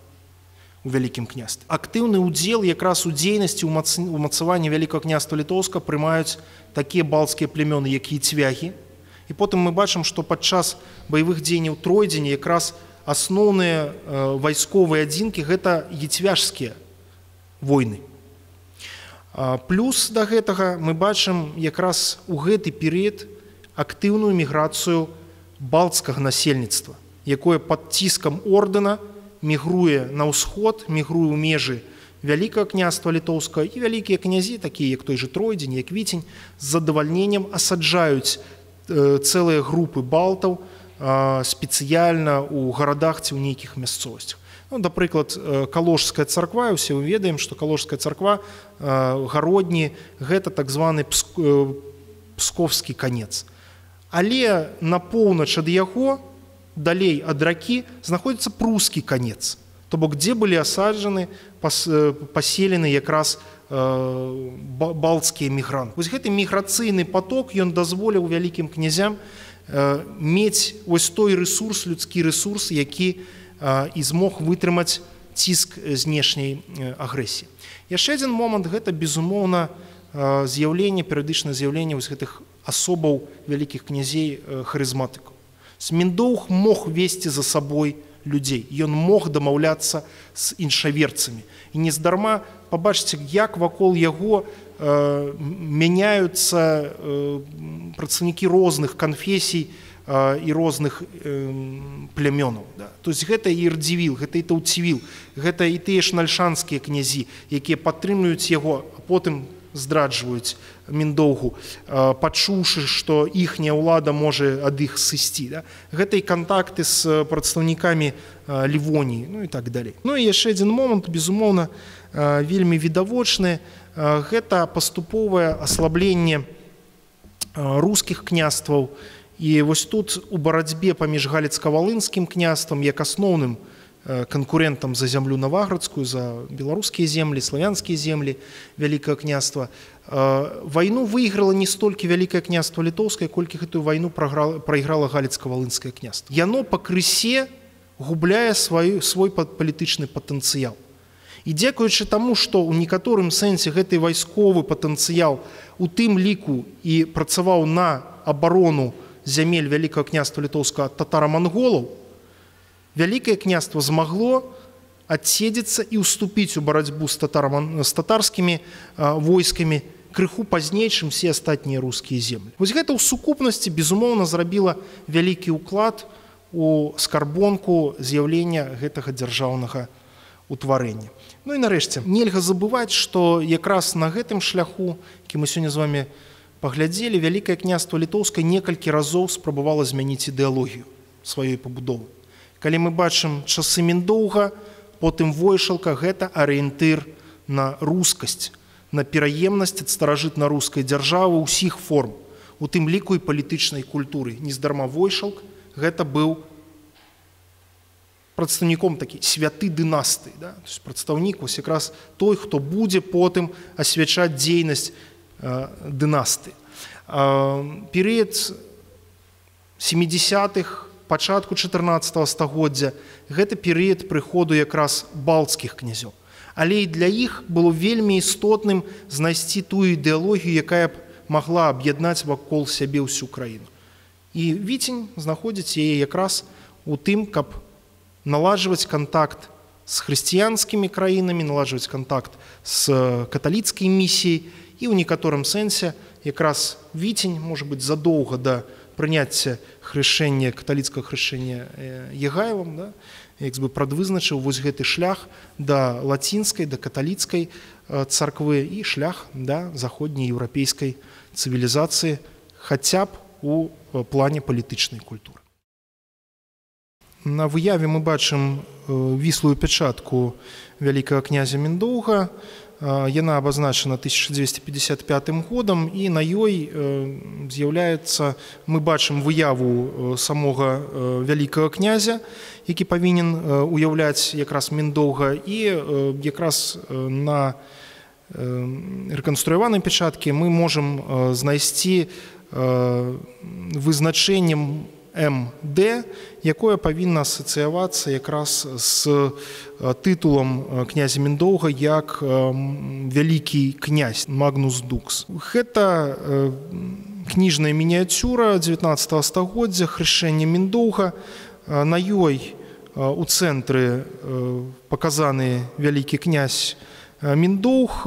у Вялікім княстве. Актыўны ўдзел якраз у дзейнасці ўмацавання Вялікага княства Літоўскага прымаюць такія балцкія племёны, як яцвягі. І потым мы бачым, што падчас баявых дзеянняў Тройдзеня якраз асноўныя вайсковыя адзінкі – гэта яцвяжскія войны. Плюс да гэтага мы бачым якраз у гэты перыяд актыўную міграцыю балтскага насельніцтва, якое пад ціскам ордэна мігруе на ўсход, мігруе ў межы Вялікага княства Літоўскага, і вялікія князі, такія як той же Тройдзень, як Віцень, з задавальненнем асаджаюць цэлыя групы балтаў спецыяльна ў гарадах ці ў нейкіх мясцовасцях. Ну, напрыклад, Калужская царква, усе мы ведаем, што Калужская царква, гародні – гэта так званы псковскі канец. Але на поўнач ад яго, далей ад ракі, знаходзіцца прускі канец. То бок, дзе былі асаджаны, паселены якраз балтскія мігранты. Вось гэты міграцыйны поток, ён дазволіў вялікім князям мець вось той ресурс, людскі ресурс, які і змог вытрымаць ціск знешняй агрэсіі. Яшчэ адзін момант – гэта, безумоўна, з'яўленне, перыядычнае з'яўленне вось гэтых асобаў вялікіх князей харызматыкаў. Сміндоўг мог весці за сабой людзей, ён мог дамаўляцца з іншаверцамі. І нездарма пабачыце, як вакол яго мяняюцца прадстаўнікі розных канфесій і розных плямёнаў. То есть гэта і Ірдзівіл, гэта і Таўцівіл, гэта і тыя ж нальшанскія князі, якія падтрымліваюць яго, а потым здраджваюць Міндоўгу, пачуўшы, што іхняя ўлада можа ад іх сысці. Гэта і кантакты з прадстаўнікамі Лівоніі, ну і так далей. Ну і яшчэ адзін момант, безумоўна, вельмі відавочны, гэта паступовае аслабленне рускіх княстваў. І вось тут у барацьбе паміж галіцка-валынскім княствам як асноўным канкурентам за зямлю наваградскую, за беларускія землі, славянскія землі Вялікага княства, вайну выйграла не столькі Вялікае княства Літоўскае, колькі гэтую вайну прайграла галіцка-валынскае княства. Яно пакрысе губляе свой палітычны патэнцыял. І дзякуючы таму, што ў некаторым сэнсе гэты вайсковы патэнцыял у тым ліку і працаваў на абарону зямель Вялікага княства Літоўскага ад татара-манголаў, Вялікае княства змагло адседзецца і ўступіць у барацьбу з татарскімі войскамі крыху пазней, чым все астатнія рускія землі. Вось гэта ў сукупнасці, безумоўна, зрабіла вялікі ўклад у скарбонку з'яўлення гэтага дзяржаўнага утварэння. Ну і нарэшце, нельга забываць, што якраз на гэтым шляху, які мы сёння з вамі паглядзелі, Вялікае княства Літоўскае некалькі разоў спрабавала змяніць ідэалогію сваёй пабудовы. Калі мы бачым часы Міндоўга, потым Войшалка, гэта арыентыр на рускасць, на пераемнасць ад старажытна-рускай дзяржавы ўсіх форм, у тым ліку і палітычнай культуры. Нездарма Войшалк гэта быў прадстаўніком такі святы дынастыі, да? То есть прадстаўнік вось якраз той, хто будзе потым асвячаць дзейнасць э, дынастыі. Э, перыяд сямідзясятых, пачатку чатырнаццатага стагоддзя гэта перыяд прыходу якраз балцкіх князёў. Але і для іх было вельмі істотным знайсці тую ідэалогію, якая б магла аб'яднаць вакол сябе ўсю краіну. І Віцень знаходзіць яе якраз у тым, каб наладжваць кантакт з хрысціянскімі краінамі, наладжваць кантакт з каталіцкай місіяй, і ў некаторым сэнсе якраз Віцень, можа быць, задоўга да прыняцця хрышэння, каталіцкага хрышэння Егайлам, да, як бы прадвызначыў вось гэты шлях да лацінскай, да каталіцкай царквы і шлях да заходняй еўрапейскай цывілізацыі, хаця б у плане палітычнай культуры. На выяве мы бачым віслую пячатку вялікага князя Міндоўга. Яна абазначана тысяча дзвесце пятьдесят пятым годам, і на ёй з'яўляецца, мы бачым выяву самога вялікага князя, які павінен уяўляць якраз Міндоўга, і якраз на рэканструяванай пячаткі мы можам знайсці вызначэннем эм дэ, якое павінна асацыявацца якраз з тытулам князя Міндоўга як вялікі князь, Магнус Дукс. Гэта кніжная мініяцюра дзевятнаццатага стагоддзя, хрышэнне Міндоўга. На ёй у цэнтры паказаны вялікі князь Міндоўг,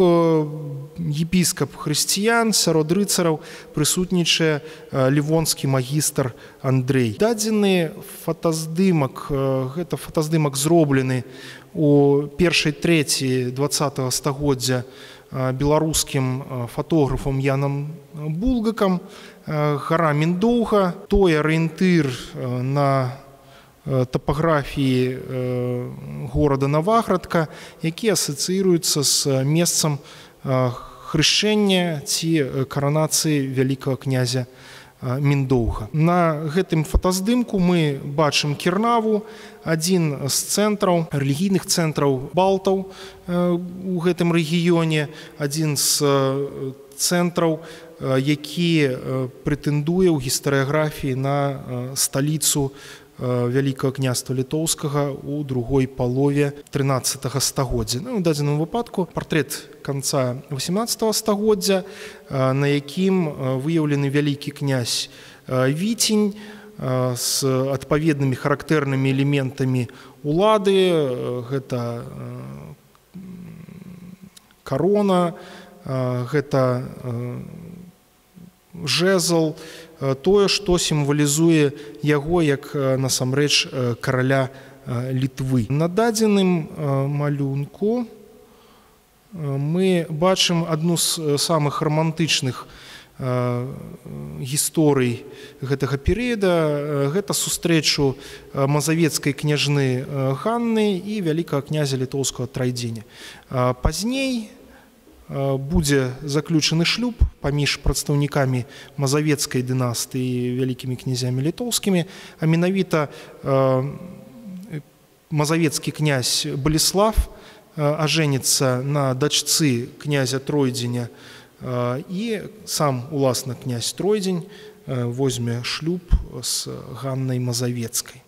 епіскап хрысціян, сярод рыцараў прысутнічае лівонскі магістр Андрэй. Дадзены фотаздымак, гэта фотаздымак зроблены у першай трэці дваццатага стагоддзя беларускім фотографам Янам Булгакам. Гара Міндоўга, той арыентыр на тапаграфіі горада Наваградка, які асацыіруецца з месцам хрышэння ці каранацыі вялікага князя Міндоўга. На гэтым фотаздымку мы бачым Кірнаву, адзін з цэнтраў, рэлігійных цэнтраў балтаў у гэтым рэгіёне, адзін з цэнтраў, які прэтэндуе ў гістарыяграфіі на сталіцу Вялікага княства Літоўскага у другой палове трынаццатага стагоддзя. Ну, у дадзеным выпадку партрэт канца васямнаццатага стагоддзя, на якім выяўлены вялікі князь Віцень з адпаведнымі характэрнымі элементамі улады. Гэта карона, гэта жэзл, тое, што сімвалізуе яго як насамрэч караля Літвы. На дадзеным малюнку мы бачым адну з самых рамантычных гісторый гэтага перыяда. Гэта сустрэчу мазавецкай княжны Ганны і вялікага князя літоўскага Трайдзеня. Пазней будзе заключаны шлюб паміж прадстаўнікамі мазавецкай дынастыі і вялікімі князямі літоўскімі, а менавіта мазавецкі князь Баліслав ажэніцца на дачцы князя Тройдзеня, і сам уласна князь Тройдзень возьме шлюб з Ганнай Мазавецкай.